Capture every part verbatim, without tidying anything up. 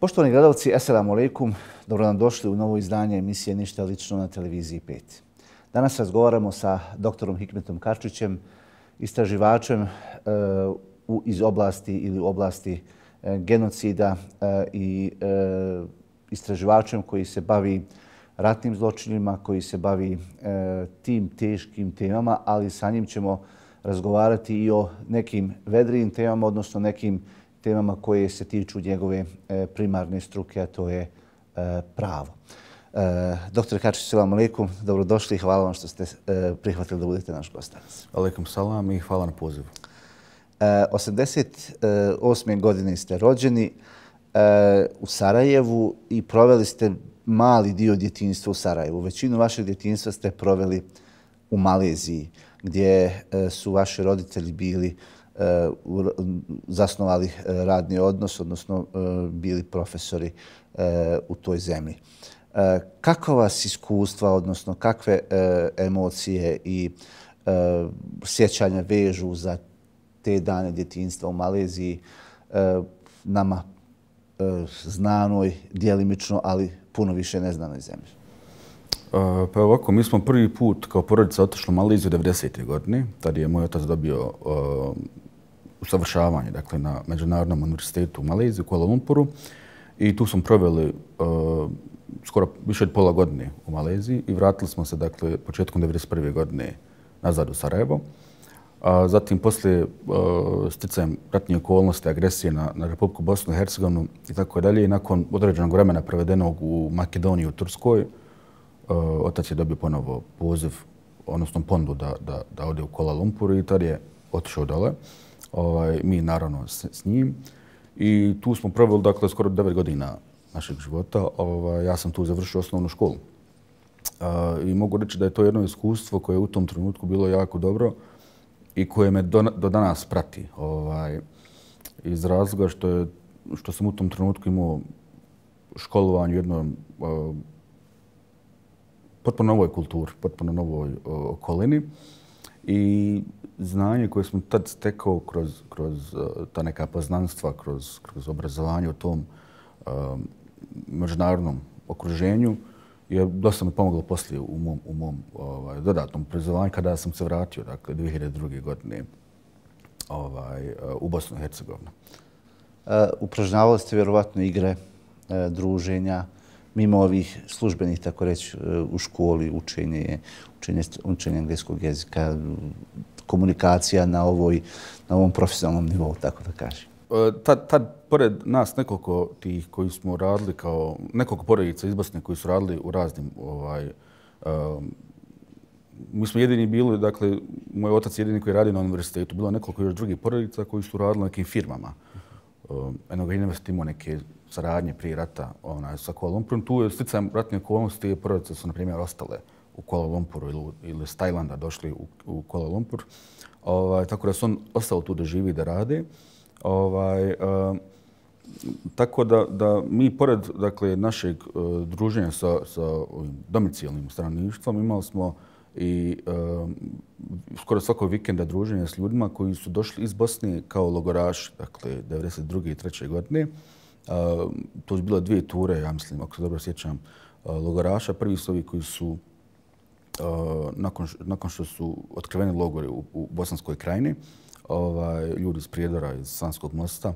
Poštovani gledalci, assalamu alaikum. Dobro nam došli u novo izdanje emisije Ništa lično na televiziji pet. Danas razgovaramo sa doktorom Hikmetom Karčićem, istraživačem e, u, iz oblasti ili u oblasti e, genocida e, i e, istraživačem koji se bavi ratnim zločinima, koji se bavi e, tim teškim temama, ali sa njim ćemo razgovarati i o nekim vedrijim temama, odnosno nekim temama koje se tiču njegove e, primarne struke, a to je e, pravo. E, Doktor Karčić, assalamu alaikum, dobrodošli i hvala vam što ste e, prihvatili da budete naš gost danas. Alaikum salam i hvala na pozivu. E, osamdeset osme godine ste rođeni e, u Sarajevu i proveli ste mali dio djetinjstva u Sarajevu. Većinu vašeg djetinjstva ste proveli u Maleziji, gdje e, su vaši roditelji bili Uh, zasnovali uh, radni odnos, odnosno uh, bili profesori uh, u toj zemlji. Uh, kakva vas iskustva, odnosno kakve uh, emocije i uh, sjećanja vežu za te dane djetinjstva u Maleziji, uh, nama uh, znanoj, djelimično, ali puno više neznanoj zemlji? Uh, pa ovako, mi smo prvi put kao porodica otišli u Maleziju devedesete godine. Tad je moj otac dobio uh, usavršavanje, dakle, na Međunarodnom univerzitetu u Maleziji, u Kuala Lumpuru. I tu smo proveli uh, skoro više od pola godine u Maleziji i vratili smo se, dakle, početkom devedeset prve godine nazad u Sarajevo. A zatim, poslije uh, sticajem ratnih okolnosti, agresije na, na Republiku Bosnu i Hercegovinu i tako dalje, i nakon određenog vremena provedenog u Makedoniji, u Turskoj, uh, otac je dobio ponovo poziv, odnosno ponudu da, da, da ode u Kuala Lumpur i tad je otišao dole. Ovaj, mi naravno s, s njim. I tu smo proveli, dakle, skoro devet godina našeg života. Ovaj, ja sam tu završio osnovnu školu. Uh, I mogu reći da je to jedno iskustvo koje je u tom trenutku bilo jako dobro i koje me do, do danas prati. Ovaj, iz razloga što, je, što sam u tom trenutku imao školovanje u jednom uh, potpuno novoj kulturi, potpuno novoj uh, okolini. I znanje koje smo tad stekao kroz, kroz uh, ta neka poznanstva, kroz, kroz obrazovanje u tom uh, međunarodnom okruženju je dosta mi pomoglo poslije u mom, u mom ovaj, dodatnom obrazovanju kada sam se vratio, dakle, dvije hiljade druge godine ovaj, uh, u Bosnu i Hercegovinu. Uh, upražnjavali ste vjerovatno igre, uh, druženja, mimo ovih službenih, tako reći, u školi, učenje, učenje, učenje engleskog jezika, komunikacija na, ovoj, na ovom profesionalnom nivou, tako da kažem. Tad, tad, pored nas nekoliko tih koji smo radili kao, nekoliko porodica iz Bosne koji su radili u raznim, ovaj, um, mi smo jedini bili, dakle, moj otac je jedini koji radi na univerzitetu. Bilo nekoliko još drugih porodica koji su radili na nekim firmama. Um, Eno ga univerzitet imao neke saradnje prije rata onaj, sa Kuala Lumpurom. Tu je sticajem ratne okolnosti i porodice su, na primjer, ostale u Kuala Lumpuru ili, ili s Tajlanda došli u, u Kuala Lumpur. Ovaj, tako da su on ostao tu da živi i da rade. Ovaj, uh, tako da, da mi, pored, dakle, našeg uh, druženja sa, sa domicilnim stanovništvom, imali smo i uh, skoro svakog vikenda druženja s ljudima koji su došli iz Bosne kao logoraši, dakle, devedeset druge i treće godine. Uh, to su bile dvije ture, ja mislim, ako se dobro sjećam, uh, logoraša. Prvi su ovi koji su, uh, nakon, nakon što su otkriveni logori u, u Bosanskoj krajini, ovaj, ljudi iz Prijedora, iz Sanskog mosta,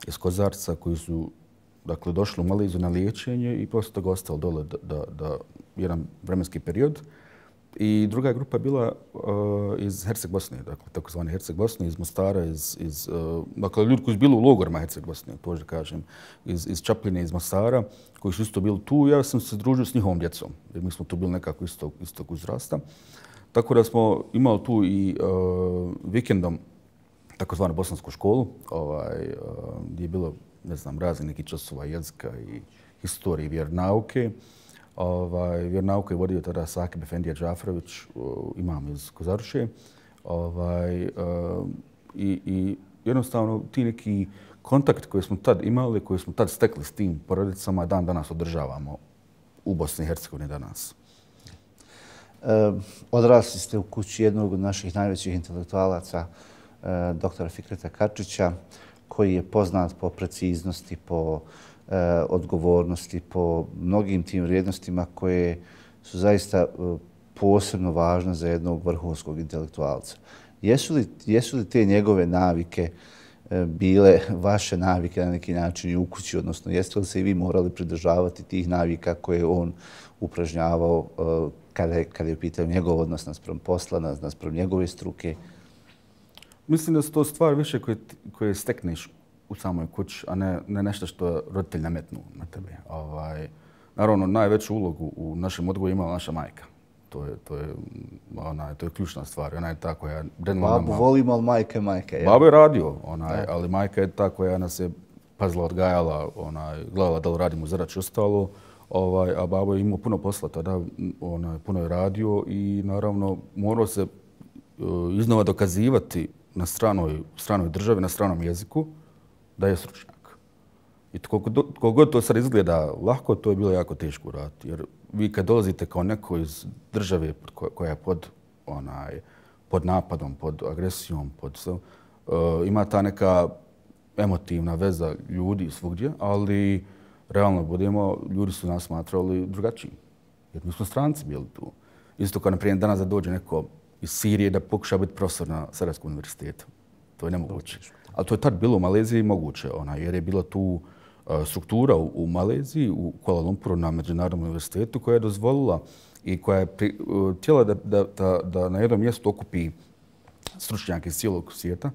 iz Kozarca, koji su, dakle, došli u Maleziju na liječenje i poslije toga ostali dole da, da, da jedan vremenski period. I druga grupa je bila uh, iz Herceg Bosne, dakle, takozvane Herceg Bosne, iz Mostara, iz, iz, uh, dakle, ljudi koji su bili u logorima Herceg Bosne, to da kažem, iz, iz Čapljine, iz Mostara, koji su isto bili tu. Ja sam se družio s njihovom djecom, jer mi smo tu bili nekako istog, istog uzrasta. Tako da smo imali tu i uh, vikendom takozvanu bosansku školu, ovaj, uh, gdje je bilo, ne znam, razni neki časova jezika i historije i vjernauke. Ovaj, vjernauku je vodio tada Sakib Efendija Džaferović, imam iz Kozaruše. Ovaj, uh, i, I jednostavno ti neki kontakt koji smo tad imali, koji smo tad stekli s tim porodicama, dan danas održavamo u Bosni i Hercegovini danas. E, odrasli ste u kući jednog od naših najvećih intelektualaca, e, doktora Fikreta Karčića, koji je poznat po preciznosti, po odgovornosti, po mnogim tim vrijednostima koje su zaista posebno važne za jednog vrhunskog intelektualca. Jesu li, jesu li te njegove navike bile vaše navike na neki način i u kući, odnosno jeste li se i vi morali pridržavati tih navika koje on upražnjavao kada je, kada je pitao njegov odnos naspram posla, naspram njegove struke? Mislim da su to stvari više koje, koje stekneš u samoj kući, a ne, ne nešto što roditelj nametnu na tebe. Ovaj, naravno, najveću ulogu u našem odgoju imala naša majka. To je, to je, ona, to je ključna stvar. Ona je ta koja... Babu volimo, ali majka je majka. Je. Babo je radio, onaj, ali majka je ta koja nas je pazila, odgajala, onaj, gledala da li radimo zarač i ostalo. Ovaj, a babo je imao puno posla tada, onaj, puno je radio i naravno morao se uh, iznova dokazivati na stranoj, stranoj državi, na stranom jeziku, da je stručnjak. I koliko god to sad izgleda lahko, to je bilo jako teško raditi. Jer vi kad dolazite kao neko iz države koja je pod, onaj, pod napadom, pod agresijom, pod, uh, ima ta neka emotivna veza ljudi svugdje, ali realno budemo, ljudi su nas smatrali drugačiji. Jer mi smo stranci bili tu. Isto kao, na primjer, danas da dođe neko iz Sirije da pokuša biti profesor na Sarajevskom univerzitetu. To je nemoguće. Ali to je tad bilo u Maleziji moguće, ona, jer je bila tu uh, struktura u, u Maleziji, u Kuala Lumpuru na Međunarodnom univerzitetu koja je dozvolila i koja je pri, uh, htjela da, da, da, da na jednom mjestu okupi stručnjake iz cijelog svijeta.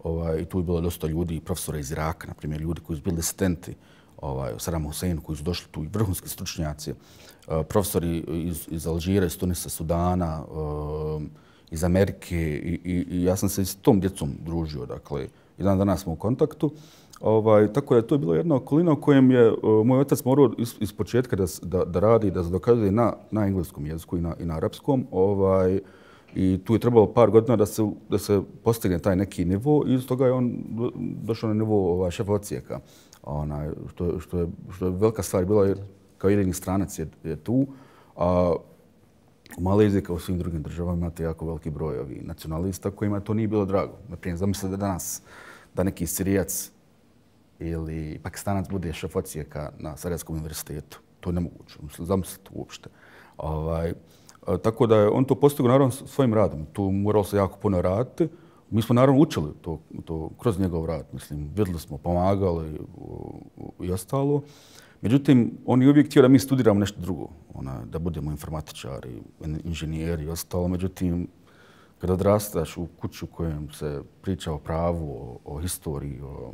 Ovaj, I tu je bilo dosta ljudi, profesora iz Iraka, na primjer, ljudi koji su bili asistenti ovaj, Sadama Huseinu, koji su došli tu, i vrhunski stručnjaci, uh, profesori iz, iz Alžira, iz Tunisa, Sudana, uh, iz Amerike i, i, i ja sam se s tom djecom družio, dakle, i dan danas smo u kontaktu. Ovaj, tako da je to bilo jedna okolina u kojem je uh, moj otac morao iz, iz početka da, da, da radi, da se dokazuje na, na engleskom jeziku i na, i na arapskom. Ovaj, I tu je trebalo par godina da se, da se postigne taj neki nivo i iz toga je on došao na nivo ovaj, šefa odsjeka. Onaj, što, što, je, što je velika stvar bila jer kao jedini stranac je, je tu. A u Maleziji kao u svim drugim državama imate jako veliki broj ovih nacionalista kojima to nije bilo drago. Naprimjer, zamislite da danas da neki Sirijac ili Pakistanac bude šef odsjeka na Sarajevskom univerzitetu. To je nemoguće. Zamislite uopšte. Ovaj, tako da je on to postigao naravno svojim radom. Tu moralo se jako puno raditi. Mi smo naravno učili to, to kroz njegov rad. Mislim, vidjeli smo, pomagali i ostalo. Međutim, on je uvijek htio da mi studiramo nešto drugo. Ona, da budemo informatičari, inženjeri i ostalo. Međutim, kada odrastaš u kuću u kojem se priča o pravu, o, o historiji, o,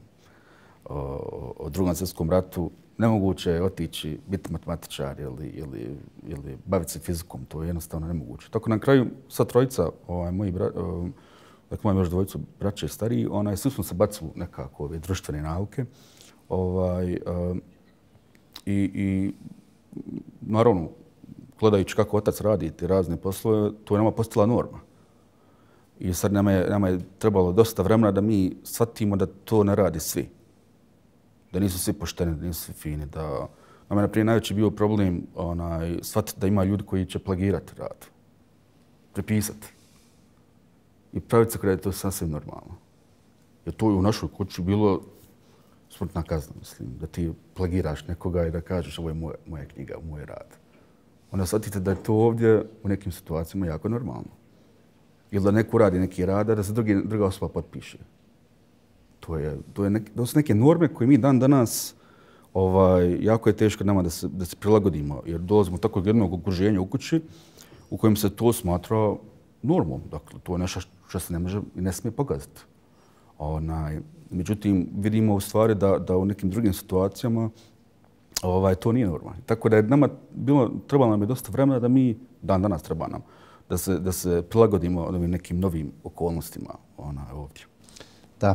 o, o drugom svjetskom ratu, nemoguće je otići, biti matematičar ili, ili, ili baviti se fizikom. To je jednostavno nemoguće. Tako na kraju, sva trojica, ovaj, moji bra, dakle, imam još dvojicu braće stariji, onaj, svi smo se bacili nekako ove društvene nauke. Ovaj, i, I naravno, gledajući kako otac radi te razne poslove, to je nama postala norma. I sad nama je, nama je trebalo dosta vremena da mi shvatimo da to ne radi svi. Da nisu svi pošteni, da nisu svi fini. Da, nama je naprijed najveći bio problem onaj, shvatiti da ima ljudi koji će plagirati rad, prepisati. I praviti se kada je to sasvim normalno. Jer to je u našoj kući bilo smrtna kazna, mislim, da ti plagiraš nekoga i da kažeš ovo je moja, moja knjiga, moj rad. Onda shvatite da je to ovdje u nekim situacijama jako normalno. Ili da neko radi neki rad, da se drugi, druga osoba potpiše. To, je, to, je nek, to su neke norme koje mi dan danas ovaj, jako je teško nama da se, da se prilagodimo. Jer dolazimo takvog jednog okruženja u kući u kojem se to smatra normom. Dakle, to je nešto što se ne može i ne smije pogaziti. Onaj, međutim, vidimo u stvari da, da u nekim drugim situacijama ovaj, to nije normalno. Tako da je nama bilo, trebalo nam je dosta vremena da mi, dan danas treba nam, da se, da se prilagodimo ovim nekim novim okolnostima ona, ovdje. Da,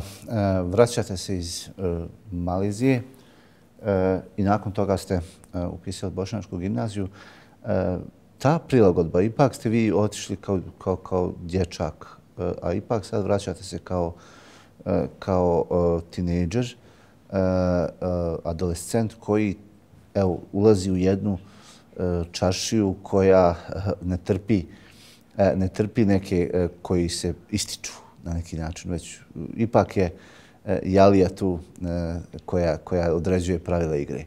vraćate se iz Malezije i nakon toga ste upisali Bošnjačku gimnaziju. Ta prilagodba, ipak ste vi otišli kao, kao, kao dječak, a ipak sad vraćate se kao, kao tinejdžer, adolescent koji evo, ulazi u jednu čaršiju koja ne trpi, ne trpi neke koji se ističu na neki način. Već ipak je Jalija tu koja, koja određuje pravila igre.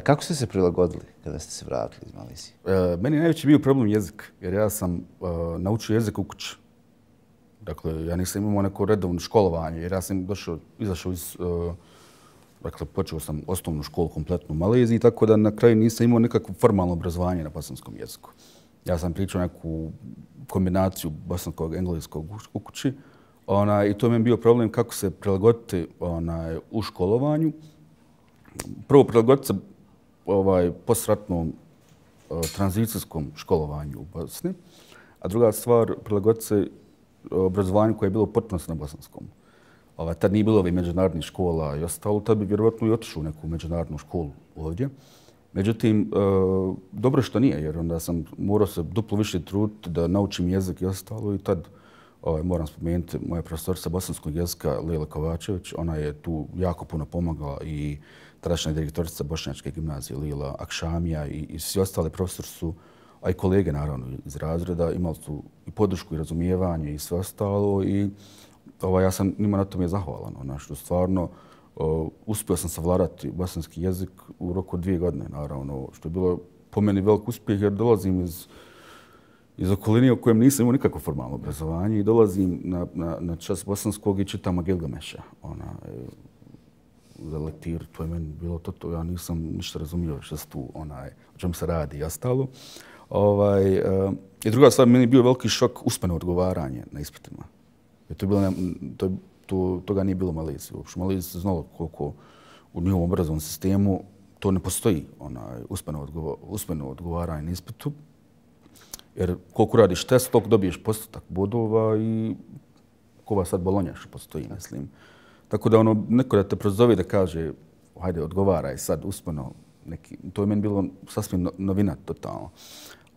Kako ste se prilagodili kada ste se vratili iz Malezije? E, meni je najveći bio problem jezik, jer ja sam uh, naučio jezik u kući. Dakle, ja nisam imao neko redovno školovanje, jer ja sam došao, izašao iz... Uh, dakle, počeo sam osnovnu školu kompletnu u Maleziji, tako da na kraju nisam imao nekakvo formalno obrazovanje na bosanskom jeziku. Ja sam pričao neku kombinaciju bosanskog i engleskog u kući. Ona, i to mi je bio problem kako se prilagoditi ona, u školovanju. Prvo, prilagoditi se ovaj, postratnom uh, tranzicijskom školovanju u Bosni, a druga stvar, prilagoditi se obrazovanju koje je bilo potpuno na bosanskom. Ovaj, tad nije bilo ovih međunarodnih škola i ostalo, tad bi vjerovatno i otišao u neku međunarodnu školu ovdje. Međutim, uh, dobro što nije, jer onda sam morao se duplo više truditi da naučim jezik i ostalo i tad ovaj, moram spomenuti moja profesorica bosanskog jezika Lila Kovačević. Ona je tu jako puno pomagala i tadašnja direktorica Bošnjačke gimnazije Lila Akšamija i, i svi ostali profesori su, a i kolege naravno iz razreda, imali su i podršku i razumijevanje i sve ostalo i ovaj, ja sam njima na tome zahvalan. Ona, što stvarno uh, uspio sam savladati bosanski jezik u roku dvije godine, naravno, što je bilo po meni velik uspjeh jer dolazim iz iz okoline u kojem nisam imao nikakvo formalno obrazovanje i dolazim na, na, na čas bosanskog i čitam Gilgameša. Ona, za lektiru, to je meni bilo to, to ja nisam ništa razumio što se tu, onaj, o čemu se radi i ostalo. Ovaj, uh, I druga stvar, meni je bio veliki šok usmeno odgovaranje na ispitima. Jer to je bilo, ne, to, to, toga nije bilo u Maleziji. Uopšte u Maleziji se znalo koliko u njihovom obrazovnom sistemu to ne postoji, onaj, usmeno, odgovo, usmeno odgovaranje na ispitu. Jer koliko radiš test, toliko dobiješ postotak bodova i kova sad Bolonja što postoji, mislim. Tako da ono, neko da te prozove da kaže, hajde, odgovaraj sad usmeno, neki, to je meni bilo sasvim novina totalno.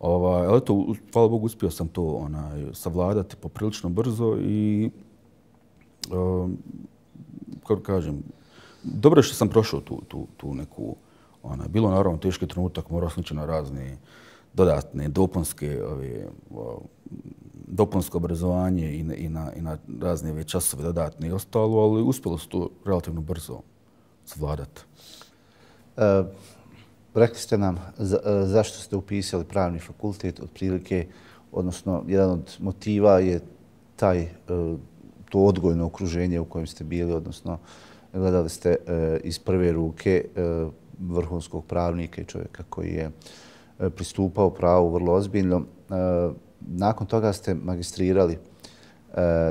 Ovaj, ali to, hvala Bogu, uspio sam to onaj, savladati poprilično brzo i, um, kako kažem, dobro je što sam prošao tu, tu, tu neku, onaj, bilo naravno teški trenutak, morao sam ići na razne dodatne, dopunske, ove, dopunsko obrazovanje i na, i na, i na razne ove časove dodatne i ostalo, ali uspjelo se to relativno brzo savladati. E, rekli ste nam za, zašto ste upisali pravni fakultet, otprilike, odnosno jedan od motiva je taj, to odgojno okruženje u kojem ste bili, odnosno gledali ste iz prve ruke vrhunskog pravnika i čovjeka koji je pristupao pravu vrlo ozbiljno. Nakon toga ste magistrirali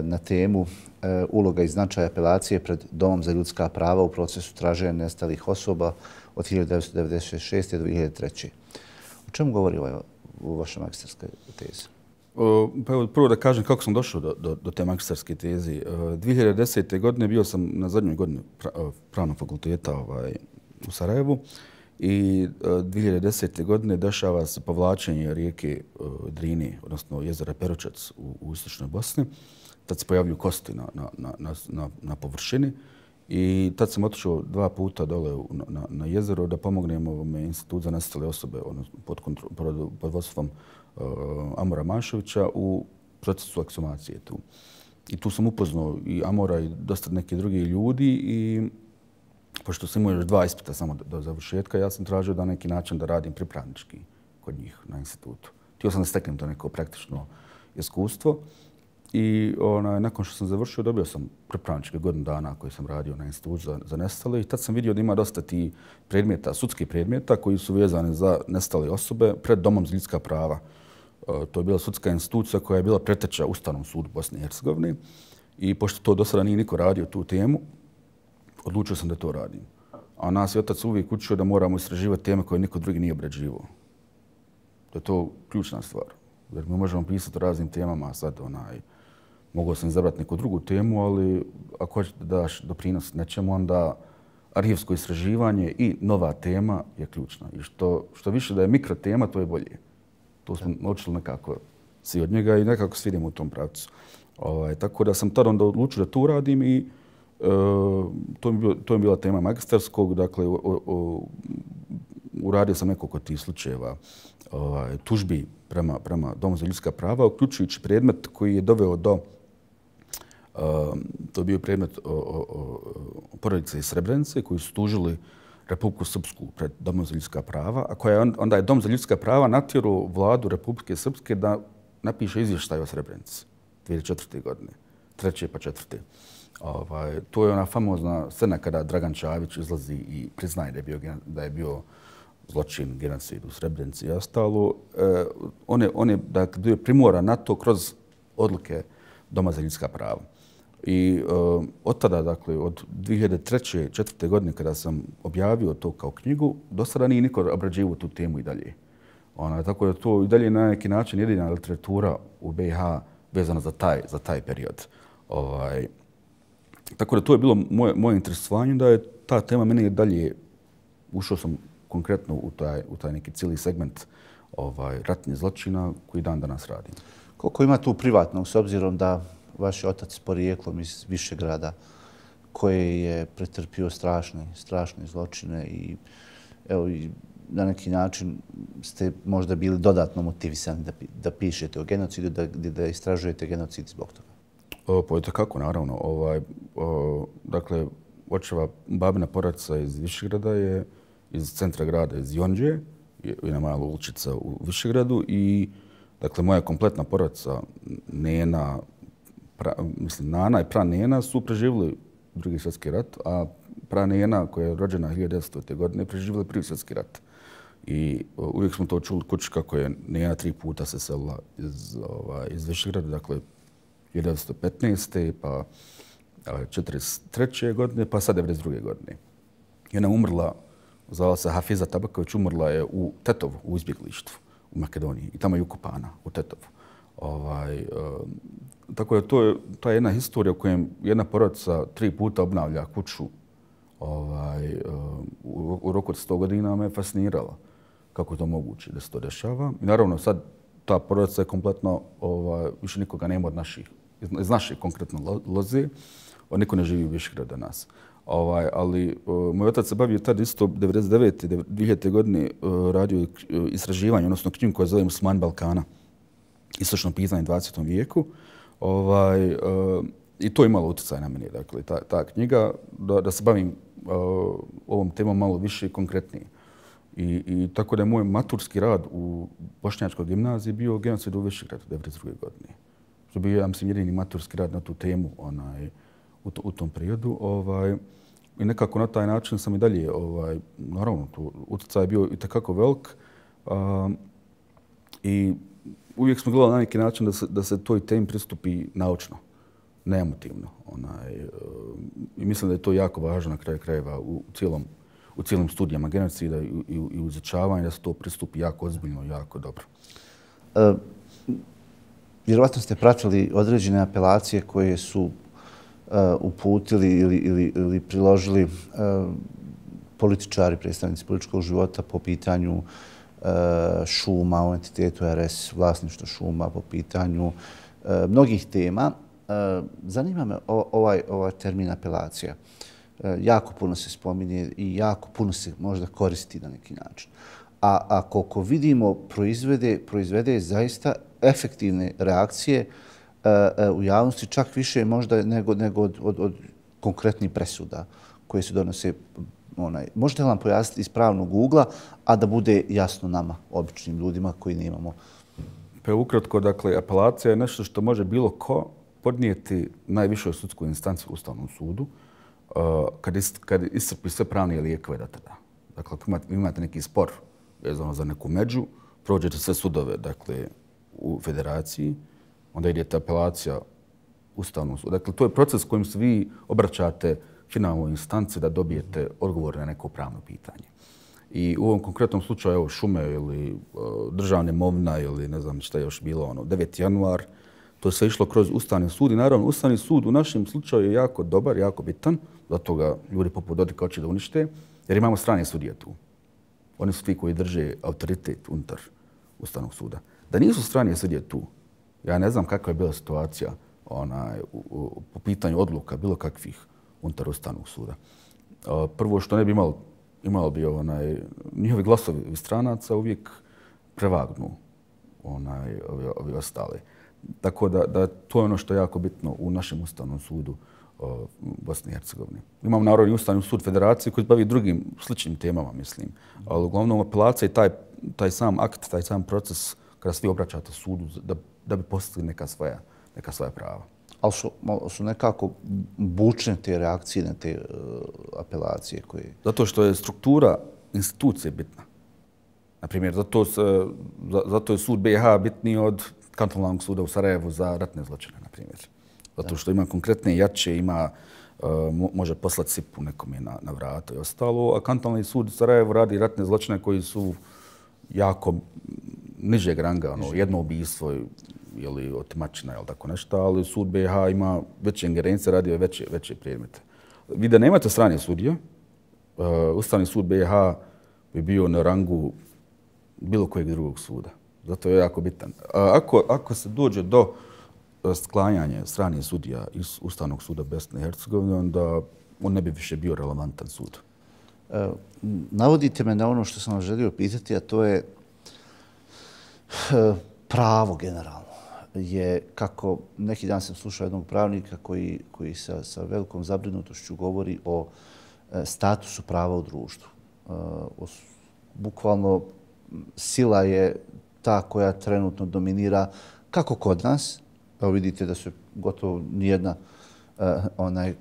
na temu uloga i značaj apelacije pred Domom za ljudska prava u procesu traženja nestalih osoba od hiljadu devetsto devedeset šeste do dvije hiljade treće. O čemu govori ovaj, u vašoj magistarskoj tezi? Pa evo, prvo da kažem kako sam došao do, do, do te magistarske tezi. dvije hiljade desete. godine bio sam na zadnjoj godini pravnog fakulteta ovaj, u Sarajevu. I dvije hiljade desete. godine dešava se povlačenje rijeke Drine, odnosno jezera Peručac u, u istočnoj Bosni. Tad se pojavljuju kosti na, na, na, na, na površini i tad sam otišao dva puta dole na, na jezero da pomognem ovome institut za nestale osobe, odnosno pod, kontro, pod, pod vodstvom uh, Amora Mašovića u procesu eksumacije tu. I tu sam upoznao i Amora i dosta neki drugi ljudi i pošto sam imao još dva ispita samo do, do završetka, ja sam tražio da na neki način da radim pripravnički kod njih na institutu. Htio sam da steknem to neko praktično iskustvo i ona, nakon što sam završio dobio sam pripravničke godinu dana koji sam radio na institutu za, za nestale i tad sam vidio da ima dosta ti predmeta, sudskih predmeta koji su vezani za nestale osobe pred Domom za ljudska prava. E, to je bila sudska institucija koja je bila preteča Ustavnom sudu Bosne i Hercegovine i pošto to do sada nije niko radio tu temu, odlučio sam da to radim. A nas je otac uvijek učio da moramo istraživati teme koje niko drugi nije obrađivao. To je to ključna stvar. Jer mi možemo pisati o raznim temama, a sad onaj, mogao sam izabrati neku drugu temu, ali ako hoćete da daš doprinos nečemu, onda arhivsko istraživanje i nova tema je ključna. I što, što više da je mikro tema, to je bolje. To smo naučili nekako svi od njega i nekako svi idemo u tom pravcu. Ovaj, tako da sam tada onda odlučio da to radim i Uh, to, mi bio, to je bila tema magistarskog, dakle, o, o, uradio sam nekoliko tih slučajeva ovaj, tužbi prema, prema Domu za ljudska prava, uključujući predmet koji je doveo do To je bio predmet porodice iz Srebrenice koji su tužili Republiku Srpsku pred Domom za ljudska prava, a koja onda je Dom za ljudska prava natjerao vladu Republike Srpske da napiše izvještaj o Srebrenici dvije hiljade četvrte. godine, treće pa četvrte. Ovaj, to je ona famozna scena kada Dragan Čavić izlazi i priznaje da je bio, da je bio zločin, genocid u Srebrenici i ostalo. E, on je, on je dakle, bio primoran na to kroz odluke Doma za ljudska prava. I e, od tada, dakle, od dvije hiljade treće. i četvrte. godine kada sam objavio to kao knjigu, do sada nije niko obrađivao tu temu i dalje. Ona, tako da to i dalje na neki način jedina literatura u B i H vezana za taj, za taj period. Ovaj, tako da to je bilo moje, moje interesovanje, da je ta tema mene dalje, ušao sam konkretno u taj, u taj neki cijeli segment ovaj, ratnih zločina koji dan danas radim. Koliko ima tu privatnog, s obzirom da vaš otac s porijeklom iz Višegrada, koji je pretrpio strašne, strašne zločine i, evo, i na neki način ste možda bili dodatno motivisani da, da pišete o genocidu, da, da istražujete genocid zbog toga? O, pa je kako, naravno. Ovaj, o, dakle, očeva babina porodica iz Višegrada je iz centra grada, iz Jonđe, jedna mala uličica u Višegradu i dakle, moja kompletna porodica, Nena, pra, mislim, Nana i pra Nena su preživjeli Drugi svjetski rat, a pra Nena, koja je rođena hiljadu devetsto. godine, preživjeli Prvi svjetski rat. I uvijek smo to čuli kući kako je Nena tri puta se selila iz, ovaj, iz Višegrada, dakle, hiljadu devetsto petnaeste. pa četrdeset treće. godine, pa sad devedeset druge. godine. I ona umrla, zvala se Hafiza Tabaković, umrla je u Tetovu, u izbjeglištvu u Makedoniji. I tamo je ukopana, u Tetovu. Ovaj, e, tako da to je ta jedna historija u kojem jedna porodica tri puta obnavlja kuću ovaj, e, u, u roku od sto godina me fascinirala kako je to moguće da se to dešava. I naravno sad ta porodica je kompletno, ovaj, više nikoga nema od naših, iz naše konkretno loze, niko ne živi u Višegradu od nas. Ovaj, ali uh, moj otac se bavio tad isto devedeset devete. dvije hiljade. godine uh, radio uh, istraživanje, odnosno knjigu koja zove Muslimani Balkana, istočno pitanje u dvadesetom vijeku. Ovaj, uh, I to je imalo utjecaj na mene, dakle, ta, ta knjiga, da, da se bavim uh, ovom temom malo više i konkretnije. I, I tako da je moj maturski rad u Bošnjačkoj gimnaziji bio genocid u Višegradu devedeset druge. godine. Što bio, ja mislim, jedini maturski rad na tu temu onaj, u, to, u tom periodu. Ovaj, I nekako na taj način sam i dalje, ovaj, naravno, tu utjecaj je bio i takako velik. Um, I uvijek smo gledali na neki način da se, da se toj temi pristupi naučno, ne emotivno. Onaj, um, I mislim da je to jako važno na kraju krajeva u cijelom u cijelim studijama genocida i, i, i u izučavanju, da se to pristupi jako ozbiljno i jako dobro. E, vjerovatno ste pratili određene apelacije koje su uh, uputili ili, ili, ili priložili uh, političari, predstavnici političkog života po pitanju uh, šuma u entitetu R S, vlasništvo šuma, po pitanju uh, mnogih tema. Uh, zanima me o, ovaj, ovaj termin apelacija. Jako puno se spominje i jako puno se možda koristi na neki način. A, a koliko vidimo, proizvede, proizvede zaista efektivne reakcije uh, uh, u javnosti, čak više možda nego, nego od, od, od konkretnih presuda koje se donose. Onaj. Možete li nam pojasniti iz pravnog ugla, a da bude jasno nama, običnim ljudima koji nemamo? Pa ukratko, dakle, apelacija je nešto što može bilo ko podnijeti najvišoj sudsku instanciju u Ustavnom sudu, Uh, kad, ist, kad iscrpi sve pravne lijekove da tada. Dakle, ako imate, imate neki spor vezano za neku među, prođete sve sudove, dakle, u federaciji, onda idete apelacija Ustavnom sudu. Dakle, to je proces kojim se vi obraćate finalnoj instanci da dobijete odgovor na neko pravno pitanje. I u ovom konkretnom slučaju, evo, šume ili uh, državne imovina ili ne znam šta je još bilo, ono, deveti januar, to je sve išlo kroz Ustavni sud i naravno Ustavni sud u našem slučaju je jako dobar, jako bitan, zato ga ljudi poput Dodika hoće da unište, jer imamo strane sudije tu. Oni su ti koji drže autoritet unutar Ustavnog suda. Da nisu strane sudije tu, ja ne znam kakva je bila situacija onaj, u, u, po pitanju odluka bilo kakvih unutar Ustavnog suda. Uh, prvo što ne bi imalo, imalo bi onaj, njihovi glasovi stranaca uvijek prevagnu onaj, ovi, ovi ostali. Tako da, da to je ono što je jako bitno u našem Ustavnom sudu o, Bosne i Hercegovine. Imamo Narodni Ustavni sud Federacije koji se bavi drugim sličnim temama, mislim. Ali uglavnom apelacija i taj, taj sam akt, taj sam proces kada svi obraćate sudu da, da bi postigli neka svoja, neka svoja prava. Ali su, su nekako bučne te reakcije na te uh, apelacije koje... Zato što je struktura institucije bitna. Naprimjer, zato, se, zato je sud B i H bitniji od kantonalnog suda u Sarajevu za ratne zločine, na primjer. Zato što ima konkretne jače, ima, uh, može poslati sipu nekome na, na vrata i ostalo, a kantonalni sud u Sarajevu radi ratne zločine koji su jako nižeg ranga, ono, jedno ubijstvo ili otimačina ili tako nešto, ali sud B i H ima veće ingerencije, radio veće, veće predmete. Vi da nemate strane sudije, uh, Ustavni sud B i H bi bio na rangu bilo kojeg drugog suda. Zato je jako bitan. Ako, ako se dođe do sklanjanja stranih sudija iz Ustavnog suda Bosne i Hercegovine, onda on ne bi više bio relevantan sud. E, navodite me na ono što sam vam želio pitati, a to je e, pravo generalno. Je kako neki dan sam slušao jednog pravnika koji, koji sa, sa velikom zabrinutošću govori o e, statusu prava u društvu. E, o, bukvalno sila je ta koja trenutno dominira kako kod nas, evo vidite da se gotovo nijedna, uh, onaj,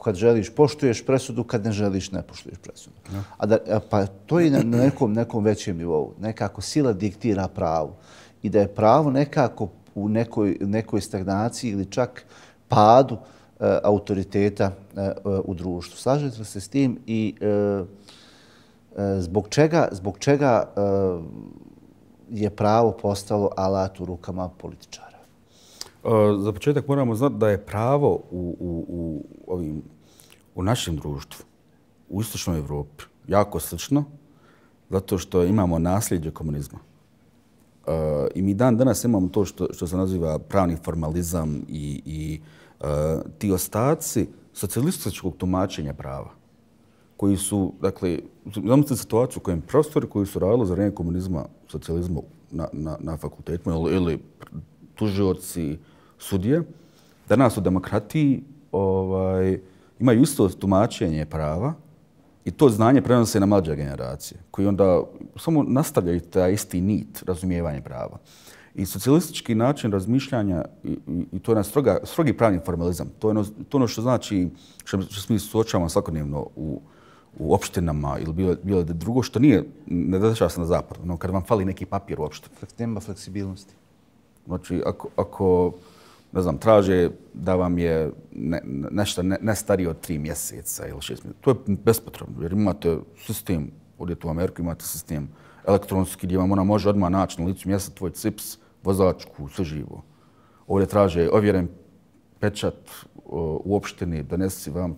kad želiš poštuješ presudu, kad ne želiš ne poštuješ presudu. Ja. A da, pa to je na nekom, nekom većem nivou. Nekako sila diktira pravu i da je pravo nekako u nekoj, nekoj stagnaciji ili čak padu uh, autoriteta uh, u društvu. Slažete li se s tim i uh, uh, zbog čega, zbog čega uh, je pravo postalo alat u rukama političara? Za početak moramo znati da je pravo u, u, u, ovim, u našem društvu, u istočnoj Evropi, jako slično, zato što imamo nasljeđe komunizma. Uh, I mi dan danas imamo to što, što se naziva pravni formalizam i, i uh, ti ostaci socijalističkog tumačenja prava, koji su, dakle, znamo se situaciju u kojem prostori koji su radili za vrijeme komunizma, socijalizma na, na, na fakultetima ili, ili tužioci, sudije, danas u demokratiji ovaj, imaju isto tumačenje prava i to znanje prenose na mlađe generacije, koji onda samo nastavljaju taj isti nit razumijevanja prava. I socijalistički način razmišljanja, i, i, i to je stroga, strogi pravni formalizam, to je ono, to ono što znači, što, što mi suočavamo svakodnevno u, u opštinama ili bilo, bilo da drugo, što nije, ne dešava se na zapadu, no, kad vam fali neki papir uopšte. Nema fleksibilnosti. Znači, ako, ako ne znam, traže da vam je ne, nešto ne, ne starije od tri mjeseca ili šest mjeseca, to je bespotrebno, jer imate sistem, odete u Ameriku, imate sistem elektronski gdje vam ona može odmah naći na licu mjesta tvoj cips, vozačku, sve živo. Ovdje traže ovjeren pečat o, u opštini, donesi vam.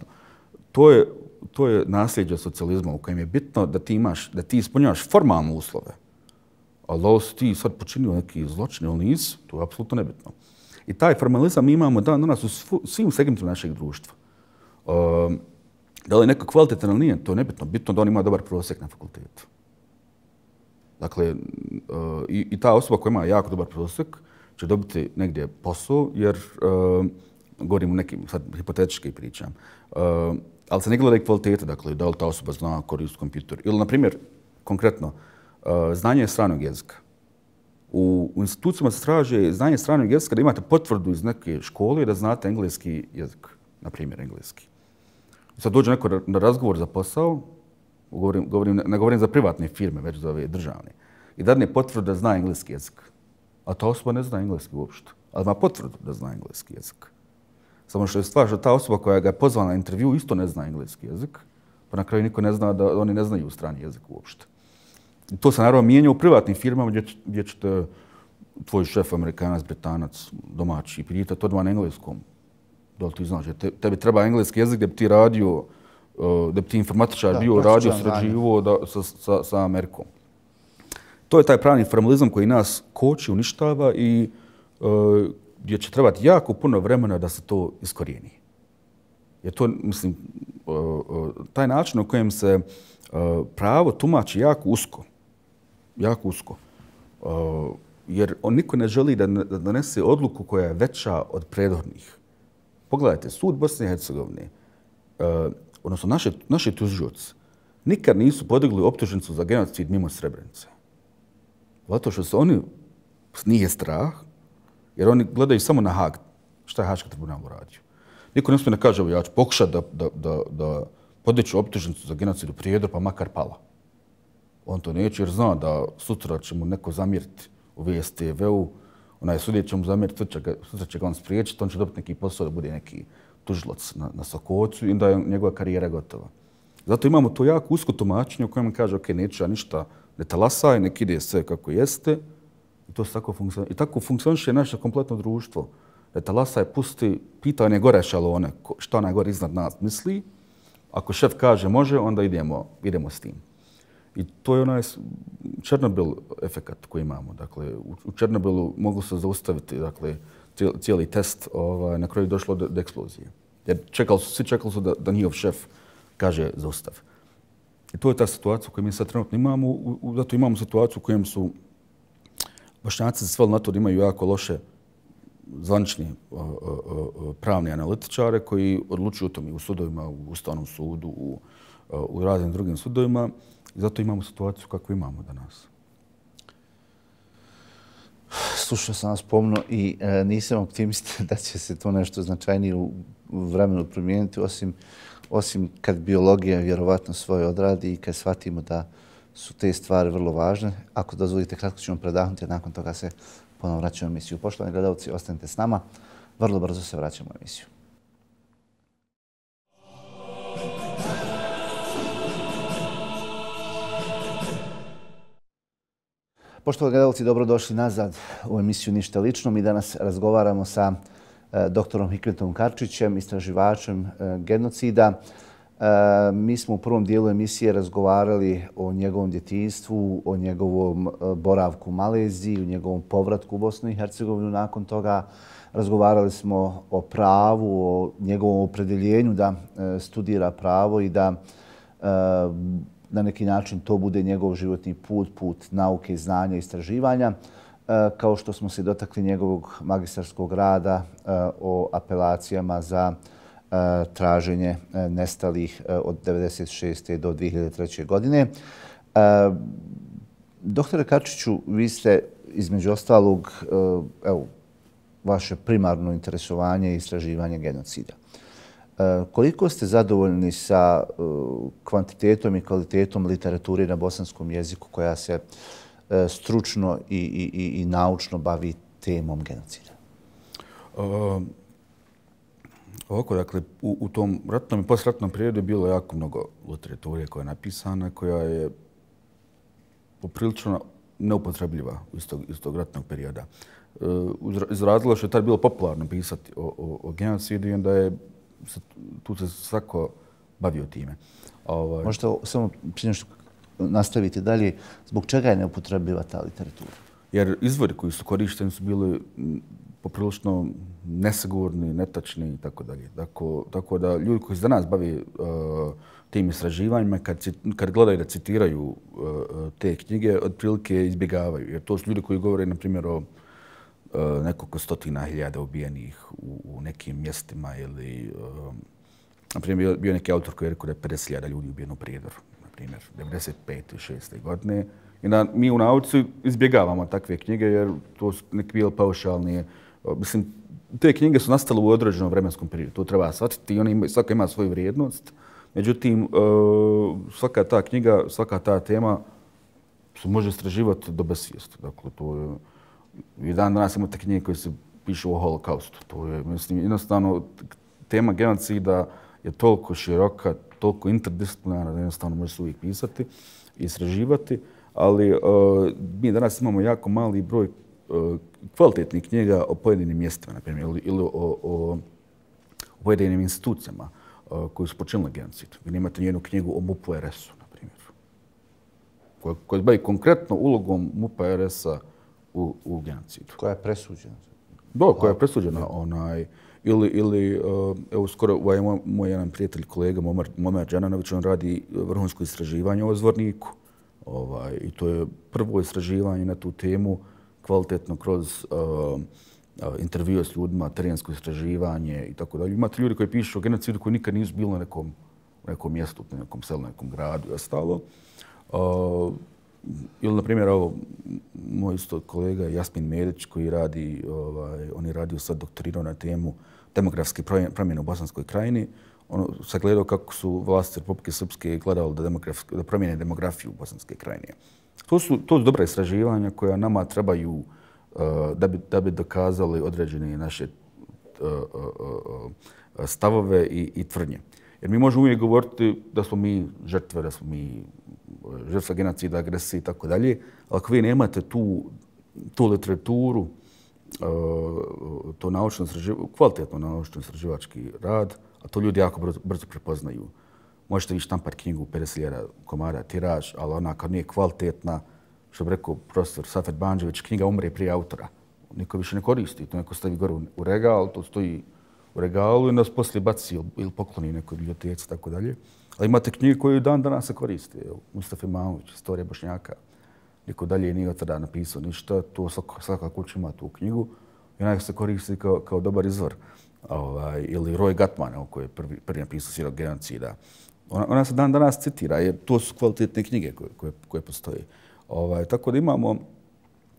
To je, to je nasljeđe socijalizma u kojem je bitno da ti imaš, da ti ispunjavaš formalne uslove. Ali da si ti sad počinio neki zločin ili nis, to je apsolutno nebitno. I taj formalizam mi imamo dan danas u svim segmentima našeg društva. Um, da li je neko kvalitetan ili nije, to je nebitno. Bitno da on ima dobar prosjek na fakultetu. Dakle, uh, i, i ta osoba koja ima jako dobar prosjek će dobiti negdje posao, jer uh, govorim o nekim, sad hipotetički pričam, uh, ali se ne gleda i kvaliteta, dakle, da li ta osoba zna koristiti kompjuter. Ili, na primjer, konkretno, uh, znanje stranog jezika. U, u institucijama se traže znanje stranog jezika da imate potvrdu iz neke škole da znate engleski jezik, na primjer engleski. Sad dođe neko na razgovor za posao, govorim, govorim, ne govorim za privatne firme, već za ove državne, i dadne potvrdu da zna engleski jezik. A ta osoba ne zna engleski uopšte, ali ima potvrdu da zna engleski jezik. Samo što je stvar što ta osoba koja ga je pozvala na intervju isto ne zna engleski jezik, pa na kraju niko ne zna da oni ne znaju strani jezik uopšte. I to se naravno mijenja u privatnim firmama gdje, gdje ćete tvoj šef, Amerikanac, Britanac, domaći, i pitati to odmah na engleskom. Da li ti znaš, te, tebi treba engleski jezik da bi ti radio, da bi ti informatičar da, bio radio, sređivo da, sa, sa, sa Amerikom. To je taj pravni formalizam koji nas koči, uništava i uh, gdje će trebati jako puno vremena da se to iskorijeni. Jer to, mislim, uh, uh, taj način u kojem se uh, pravo tumači jako usko, jako usko. Uh, jer on niko ne želi da donese odluku koja je veća od prethodnih. Pogledajte, sud Bosne i Hercegovine, uh, odnosno naše, naši tužioci, nikad nisu podigli optužnicu za genocid mimo Srebrenice. Zato što se oni, nije strah, jer oni gledaju samo na Haag. Šta je Haški tribunal uradio? Niko ne smije ne kaže, ja ću pokušati da, da, da, da podiću optužnicu za genocid u Prijedor, pa makar pala. On to neće jer zna da sutra će mu neko zamjeriti u V S T V-u, onaj sudjet će mu zamjeriti, sutra, sutra će ga on spriječiti, on će dobiti neki posao da bude neki tužilac na, na Sokocu i onda je njegova karijera gotova. Zato imamo to jako usko tumačenje u kojem kaže, ok, neću ja ništa, ne talasaj, nek ide sve kako jeste. I to tako funkcioniše. I tako funkcioniše naše kompletno društvo. Ne talasaj, pusti, pita one gore šalone, šta onaj gore iznad nas misli. Ako šef kaže može, onda idemo, idemo s tim. I to je onaj Černobil efekat koji imamo. Dakle, u Černobilu mogu se zaustaviti dakle, cijeli test, ovaj, na kraju je došlo do, do eksplozije. Jer čekali su, svi čekali su da, da njihov šef kaže zaustav. I to je ta situacija koju mi sad trenutno imamo. U, u, zato imamo situaciju u kojem su Bošnjaci sveli na to da imaju jako loše zvanični uh, uh, pravni analitičare koji odlučuju o tome u sudovima, u Ustavnom sudu, u, uh, u raznim drugim sudovima. I zato imamo situaciju kakvu imamo danas. Slušao sam vas pomno i e, nisam optimista da će se to nešto značajnije u, u vremenu promijeniti, osim, osim kad biologija vjerovatno svoje odradi i kad shvatimo da su te stvari vrlo važne. Ako dozvolite, kratko ćemo predahnuti, a nakon toga se ponovno vraćamo u emisiju. Poštovani gledalci, ostanite s nama. Vrlo brzo se vraćamo u emisiju. Poštovani gledalci, dobrodošli nazad u emisiju Ništa lično. Mi danas razgovaramo sa e, doktorom Hikmetom Karčićem, istraživačem e, genocida. E, mi smo u prvom dijelu emisije razgovarali o njegovom djetinjstvu, o njegovom e, boravku u Maleziji, o njegovom povratku u Bosnu i Hercegovinu. Nakon toga razgovarali smo o pravu, o njegovom opredjeljenju da e, studira pravo i da e, na neki način to bude njegov životni put, put nauke, znanja i istraživanja, kao što smo se dotakli njegovog magistarskog rada o apelacijama za traženje nestalih od devedeset šeste do dvije hiljade treće. godine. Doktore Karčiću, vi ste između ostalog, evo, vaše primarno interesovanje i istraživanje genocida. Koliko ste zadovoljni sa kvantitetom i kvalitetom literature na bosanskom jeziku koja se stručno i, i, i naučno bavi temom genocida? Uh, ovako, dakle, u, u tom ratnom i postratnom periodu je bilo jako mnogo literature koja je napisana, koja je poprilično neupotrebljiva iz tog, iz tog ratnog perioda. Uh, iz razloga što je tad bilo popularno pisati o, o, o genocidu i onda je tu se svako bavio time. Ovaj. Možete samo prije nešto nastaviti dalje. Zbog čega je neupotrebljiva ta literatura? Jer izvori koji su korišteni su bili poprilično nesigurni, netačni i tako dalje. Tako, tako da ljudi koji se danas bavi uh, tim istraživanjima, kad, kad gledaju da citiraju uh, te knjige, otprilike izbjegavaju. Jer to su ljudi koji govore, na primjer, o Uh, nekoliko stotina hiljada ubijenih u, u nekim mjestima ili, uh, na primjer, bio, bio neki autor koji je rekao da je pedeset hiljada ljudi ubijeno u Prijedoru, na primjer, devedeset pete šeste. godine. I da mi u nauci izbjegavamo takve knjige jer to su neki bili paušalni. Uh, mislim, te knjige su nastale u određenom vremenskom periodu, to treba shvatiti i oni imaju, svaka ima svoju vrijednost. Međutim, uh, svaka ta knjiga, svaka ta tema se može istraživati do besvijesti. Dakle, to je i dan danas imate knjige koje se pišu o holokaustu. To je, mislim, jednostavno, tema genocida je toliko široka, toliko interdisciplinarna da jednostavno može se uvijek pisati i istraživati, ali uh, mi danas imamo jako mali broj uh, kvalitetnih knjiga o pojedinim mjestima, na primjer, ili, ili o, o, o pojedinim institucijama uh, koji su počinili genocid. Vi nemate nijednu knjigu o MUP-u R S-u, na primjer, koja, koja se bavi konkretno ulogom MUP-a R S-a u, u genocidu. Koja je presuđena? Da, koja je presuđena. Onaj, ili, ili uh, evo, skoro ovaj moj, moj jedan prijatelj, kolega Momar, Momar Džananović, on radi vrhunsko istraživanje o Zvorniku. Ovaj, I to je prvo istraživanje na tu temu kvalitetno kroz uh, intervjue s ljudima, terensko istraživanje i tako dalje. Imate ljudi koji pišu o genocidu koji nikad nisu bili na nekom, nekom mjestu, na nekom selu, na nekom gradu i ostalo. Uh, ili, na primjer, ovo, moj isto kolega Jasmin Medić koji radi, ovaj, on je radio sad doktorirao na temu demografske promjene u Bosanskoj krajini. On sagledao kako su vlasti Republike Srpske gledali da, da promijene demografiju u Bosanske krajine. To su, to su dobra istraživanja koja nama trebaju uh, da, bi, da bi dokazali određene naše uh, uh, uh, stavove i, i tvrdnje. Jer mi možemo uvijek govoriti da smo mi žrtve, da smo mi žrtve genocida, agresije i tako dalje, ali ako vi nemate tu, tu literaturu, uh, to naučno kvalitetno naučno istraživački rad, a to ljudi jako brzo, brzo prepoznaju. Možete vi štampati knjigu pedeset hiljada komada tiraž, ali ona kad nije kvalitetna, što bi rekao profesor Safet Banđević, knjiga umre prije autora. Niko više ne koristi, to neko stavi gore u regal, to stoji u regalu i nas poslije baci ili pokloni nekoj biblioteci, tako dalje. Ali imate knjige koje dan danas se koriste. Mustafa Imamović, Istorija Bošnjaka, niko dalje nije od tada napisao ništa, to svaka, svaka kuća ima tu knjigu i ona se koristi kao, kao dobar izvor. Ovaj, ili Roy Gatman, koji je prvi, prvi napisao Svjedok genocida. Ona, ona se dan danas citira, jer to su kvalitetne knjige koje, koje, koje postoje. Ovaj, tako da imamo,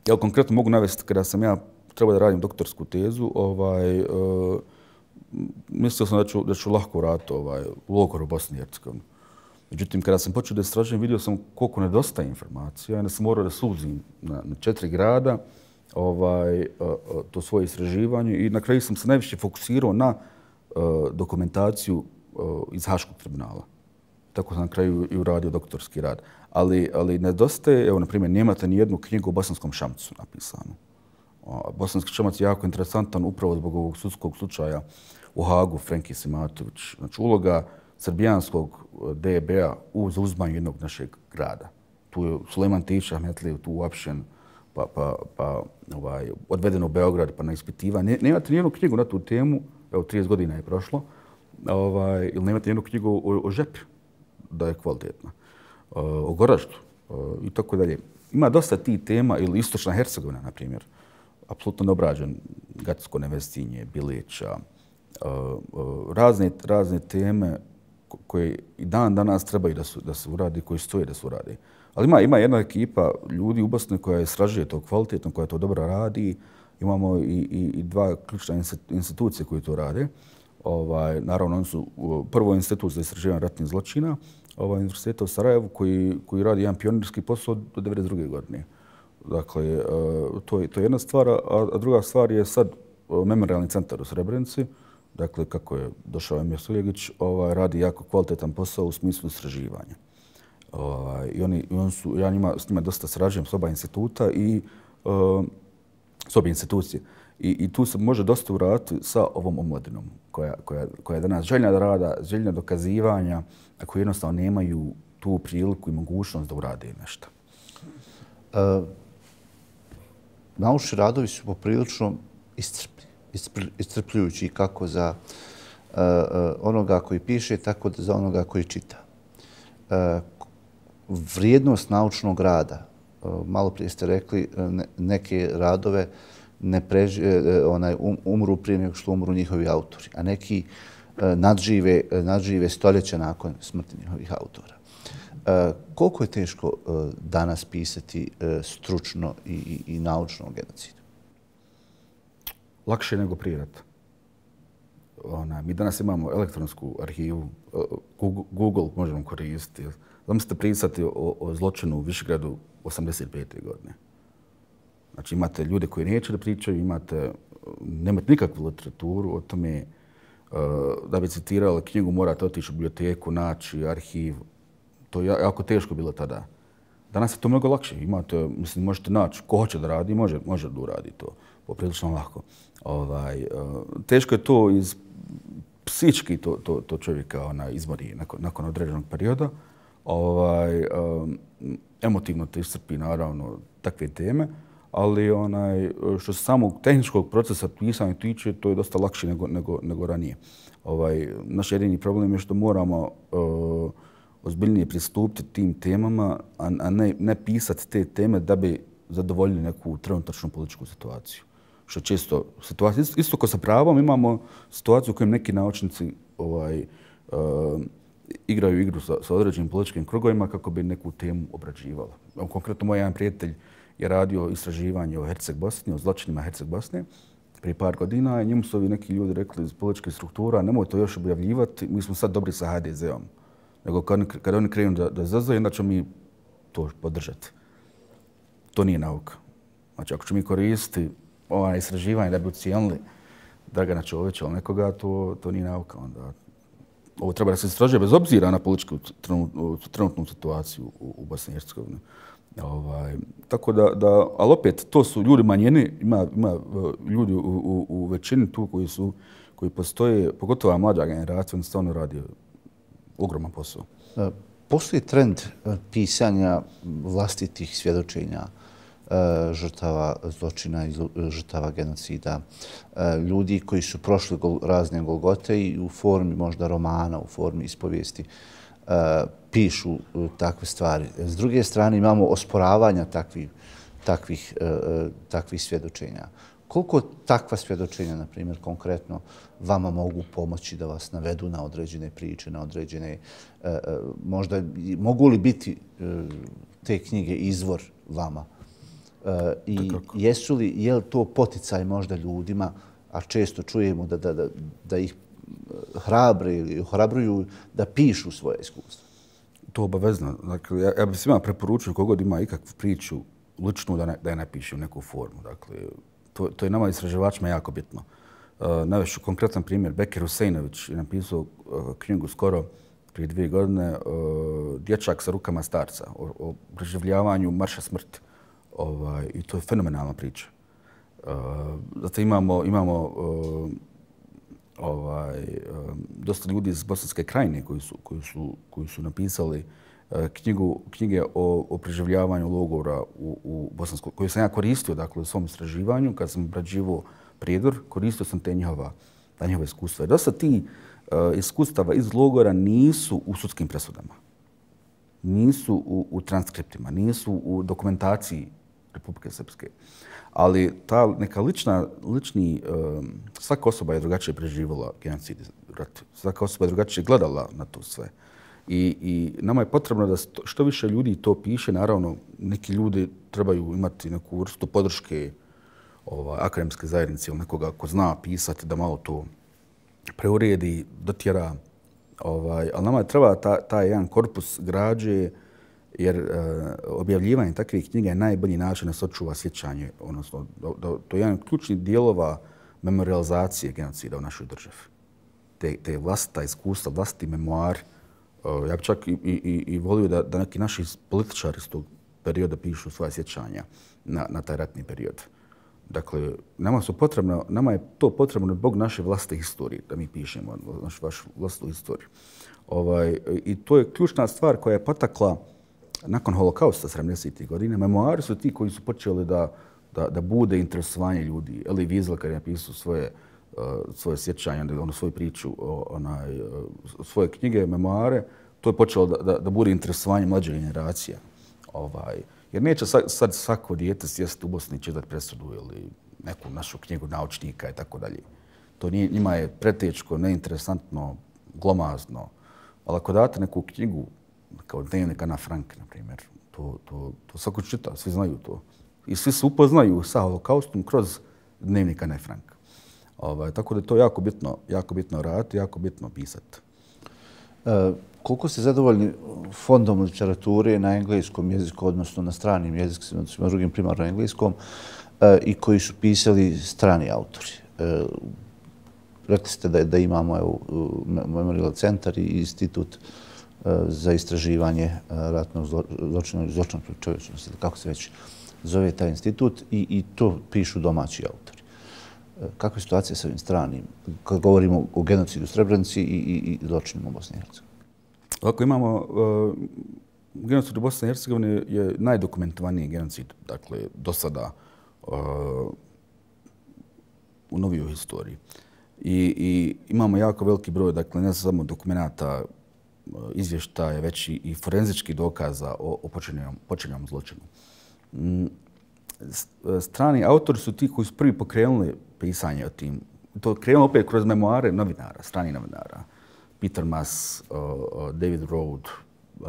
ja konkretno mogu navesti kada sam ja trebao da radim doktorsku tezu, ovaj, uh, mislio sam da ću, da ću lahko vratiti ovaj, u logor u Bosni i Hercegovini. Međutim, kada sam počeo da istražujem, vidio sam koliko nedostaje informacija. Ja sam morao da suzim na, na četiri grada ovaj, to svoje istraživanje i na kraju sam se najviše fokusirao na uh, dokumentaciju uh, iz Haškog tribunala. Tako sam na kraju i uradio doktorski rad. Ali, ali nedostaje, evo, na primjer, nemate ni jednu knjigu o Bosanskom Šamcu napisanu. Bosanski Šamac je jako interesantan upravo zbog ovog sudskog slučaja u Hagu, Frenki Simatović. Znači, uloga srbijanskog D B-a u zauzmanju jednog našeg grada. Tu je Sulejman Tiša Ahmetlije, tu uapšen, pa, pa, pa ovaj, odveden u Beograd, pa na ispitivanje. Ne, nemate nijednu knjigu na tu temu, evo, trideset godina je prošlo, ovaj, ili nemate nijednu knjigu o, o Žepi, da je kvalitetna, o Goraždu i tako dalje. Ima dosta tih tema, ili Istočna Hercegovina, na primjer, apsolutno neobrađen, Gatsko Nevestinje, Bilića, razne, razne teme koje i dan danas trebaju da, su, da se uradi, koji stoje da se uradi. Ali ima, ima jedna ekipa ljudi u Bosni koja istražuje to kvalitetno, koja to dobro radi. Imamo i, i, i dva ključne institucije koje to rade. Ovaj, naravno, oni su prvo institut za istraživanje ratnih zločina, ovaj, Univerziteta u Sarajevu, koji, koji radi jedan pionirski posao do devedeset druge godine. Dakle, to je, to je jedna stvar, a, a druga stvar je sad Memorialni centar u Srebrenici. Dakle, kako je došao Emir Suljegić, ovaj, radi jako kvalitetan posao u smislu istraživanja. Ovaj, I oni, on su, ja njima, s njima dosta srađujem s oba instituta i uh, s obje institucije. I, I tu se može dosta uraditi sa ovom omladinom koja, koja, koja je danas željna da rada, željna dokazivanja, a koji jednostavno nemaju tu priliku i mogućnost da urade nešto. Uh, naučni radovi su poprilično iscrpni, iscrpljujući kako za uh, onoga koji piše, tako za onoga koji čita. Uh, vrijednost naučnog rada, uh, malo prije ste rekli, ne, neke radove ne preži, uh, onaj, um, umru prije nego što umru njihovi autori, a neki uh, nadžive, uh, nadžive stoljeća nakon smrti njihovih autora. Uh, koliko je teško uh, danas pisati uh, stručno i, i, i naučno o genocidu? Lakše nego prije rata. Ona, mi danas imamo elektronsku arhivu, Google, Google možemo koristiti. Zamislite pisati o, o zločinu u Višegradu osamdeset pete godine. Znači imate ljude koji neće da pričaju, imate, nemate nikakvu literaturu o tome. Da bi citirali knjigu morate otići u biblioteku, naći arhiv. To je jako teško bilo tada. Danas je to mnogo lakše. Imate, mislim, možete naći ko hoće da radi, može, može da uradi to. Poprilično lako. Ovaj, teško je to iz psički to, to, to čovjeka ona, izmori nakon, nakon određenog perioda. Ovaj, emotivno to iscrpi, naravno, takve teme, ali onaj, što se samog tehničkog procesa pisanja tiče, to je dosta lakše nego, nego, nego ranije. Ovaj, naš jedini problem je što moramo uh, ozbiljnije pristupiti tim temama, a, a ne, ne pisati te teme da bi zadovoljili neku trenutačnu političku situaciju. Što često situacija, isto kao sa pravom, imamo situaciju u kojem neki naučnici ovaj, uh, igraju igru sa, sa određenim političkim krugovima kako bi neku temu obrađivali. Konkretno, moj jedan prijatelj je radio istraživanje o Herceg Bosni, o zločinima Herceg Bosne prije par godina i njemu su ovi neki ljudi rekli iz političkih struktura nemoj to još objavljivati, mi smo sad dobri sa ha de ze om. Nego kad, kad oni krenu da, da zazaju, onda ćemo mi to podržati. To nije nauka. Znači, ako ćemo mi koristiti ova istraživanja da bi ucijenili Dragana Čovića ili nekoga, to, to nije nauka. Onda ovo treba da se istražuje bez obzira na političku trenutnu situaciju u, u Bosni i Hercegovini. Ovaj, tako da, da, ali opet, to su ljudi manjine, ima, ima ljudi u, u, u većini tu koji su, koji postoje, pogotovo mlađa generacija, oni stvarno radi ogroman posao. Postoji trend pisanja vlastitih svjedočenja žrtava zločina i žrtava genocida, ljudi koji su prošli razne golgote i u formi možda romana, u formi ispovijesti pišu takve stvari. S druge strane imamo osporavanja takvih, takvih, takvih svjedočenja. Koliko takva svjedočenja, na primjer, konkretno vama mogu pomoći da vas navedu na određene priče, na određene, možda mogu li biti te knjige izvor vama? I jesu li, je li to poticaj možda ljudima, a često čujemo da, da, da, da ih hrabre ili ohrabruju da pišu svoje iskustva? To obavezno. Dakle, ja, ja bih svima preporučio kogod ima ikakvu priču ličnu da, ne, da je napiše u neku formu. Dakle, to, to je nama istraživačima jako bitno. Uh, Navešću konkretan primjer. Bekir Huseinović je napisao uh, knjigu skoro prije dvije godine uh, Dječak sa rukama starca o, o preživljavanju marša smrti. Ovaj, I to je fenomenalna priča. Uh, zato imamo, imamo uh, ovaj, uh, dosta ljudi iz Bosanske krajine koji su, koji su, koji su napisali uh, knjigu, knjige o, o preživljavanju logora u, u Bosanskoj, koju sam ja koristio dakle, u svom istraživanju. Kad sam obrađivao Prijedor, koristio sam te njihova, ta njihova iskustva. Dosta ti uh, iskustava iz logora nisu u sudskim presudama. Nisu u, u transkriptima, nisu u dokumentaciji Republike Srpske. Ali ta neka lična, lični, um, svaka osoba je drugačije preživjela genocid i rat. Svaka osoba je drugačije gledala na to sve. I, i nama je potrebno da što više ljudi to piše. Naravno, neki ljudi trebaju imati neku vrstu podrške ovaj, akademske zajednice ili nekoga ko zna pisati da malo to preuredi, dotjera. Ovaj, ali nama je treba ta, taj jedan korpus građe, jer uh, objavljivanje takvih knjiga je najbolji način da se očuva sjećanje, odnosno da, da, to je jedan ključni dijelova memorializacije genocida u našoj državi. Te, te vlastita iskustva, vlastiti memoari. Uh, ja bih čak i, i, i volio da, da neki naši političari iz tog perioda pišu svoje sjećanja na, na taj ratni period. Dakle, nama, su potrebno, nama je to potrebno zbog naše vlastite historije, da mi pišemo našu vašu vlastnu historiju. Ovaj, I to je ključna stvar koja je potakla nakon holokausta sedamdesetih godina. Memoari su ti koji su počeli da, da, da bude interesovanje ljudi. Elie Wiesel kad je napisao svoje, uh, svoje sjećanje, ono, svoju priču, onaj, uh, svoje knjige, memoare, to je počelo da, da, da bude interesovanje mlađe generacija. Ovaj, jer neće sad, sad svako dijete sjesti u Bosni i čitati presudu ili neku našu knjigu naučnika i tako dalje. To nije, njima je pretečko, neinteresantno, glomazno. Ali ako date neku knjigu kao dnevnik Ana Frank, na primjer, to, to, to svako čita, svi znaju to. I svi se upoznaju sa holokaustom kroz dnevnik Ana Frank. Ovaj, tako da je to jako bitno, jako bitno raditi, jako bitno pisati. E, koliko ste zadovoljni fondom literature na engleskom jeziku, odnosno na stranim jezicima, odnosno na drugim primarno engleskom, e, i koji su pisali strani autori? E, rekli ste da, da imamo evo, Memorial centar i institut za istraživanje ratnog zločina, zločina protiv čovječnosti, kako se već zove taj institut, i, i to pišu domaći autori. Kakva je situacija sa ovim stranim, kad govorimo o genocidu u Srebrenici i, i, i zločinima u Bosni i Hercegovini? Ovako imamo, uh, genocid u Bosni i Hercegovini je najdokumentovaniji genocid, dakle, do sada uh, u novijoj historiji. I, I imamo jako veliki broj, dakle, ne samo dokumenata, izvještaje, već i forenzički dokaza o, o počinjenom, počinjenom zločinu. Mm, strani autori su ti koji su prvi pokrenuli pisanje o tim. To je krenulo opet kroz memoare novinara, strani novinara. Peter Maas, uh, uh, David Rode, uh,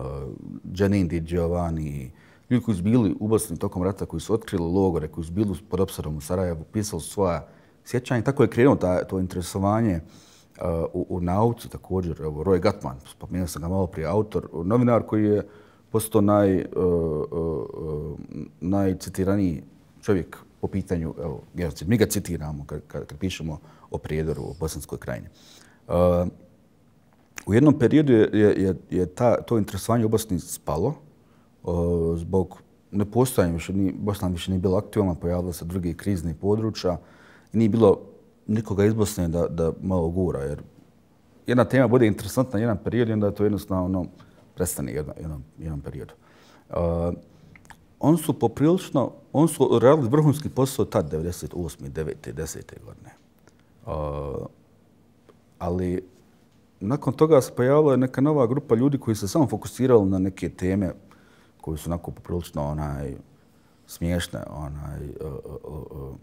Janine Di Giovanni, ljudi koji su bili u Bosni tokom rata, koji su otkrili logore, koji su bili pod opsadom u Sarajevu, pisali svoja sjećanja. Tako je krenulo ta, to interesovanje uh, u, u nauci također. Evo, Roy Gutman, spomenuo sam ga malo prije, autor, novinar koji je postao naj, uh, uh, najcitiraniji čovjek po pitanju evo, genocida. Mi ga citiramo kad, kad, kad pišemo o Prijedoru, o Bosanskoj krajini. Uh, u jednom periodu je, je, je ta, to interesovanje u Bosni spalo uh, zbog nepostojanja. Više ni, Bosna više nije bila aktualna, pojavila se drugi krizni područja i nije bilo nikoga iz Bosne da, da malo gura. Jer jedna tema bude interesantna jedan period i onda je to jednostavno prestane jedan, jedan, jedan period. Uh, oni su poprilično, oni su radili vrhunski posao tad, devedeset osme, devete, desete godine. Uh, ali nakon toga se pojavila neka nova grupa ljudi koji se samo fokusirali na neke teme koji su onako poprilično onaj, smiješne. Onaj, uh, uh, uh,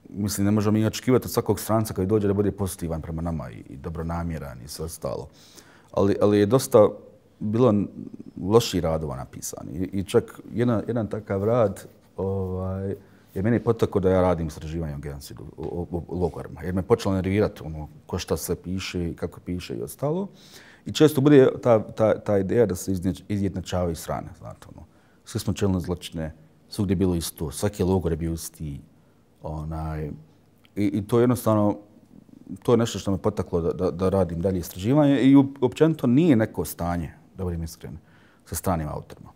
mislim, ne možemo mi očekivati od svakog stranca koji dođe da bude pozitivan prema nama i, i dobronamjeran i sve ostalo. Ali, ali je dosta bilo loših radova napisani. I, i čak jedan, jedan takav rad ovaj, je meni potakao da ja radim istraživanje o genocidu, o, o, o logorima. Jer me počelo nervirati ono, ko šta se piše, kako piše i ostalo. I često bude ta, ta, ta ideja da se izjednačavaju strane. Znate, ono. Svi smo čelne zločine, svugdje je bilo isto, svaki logor je bio isti. Onaj, i, I to je jednostavno, to je nešto što me potaklo da, da, da radim dalje istraživanje i općenito nije neko stanje, da budem iskren, sa stranim autorima.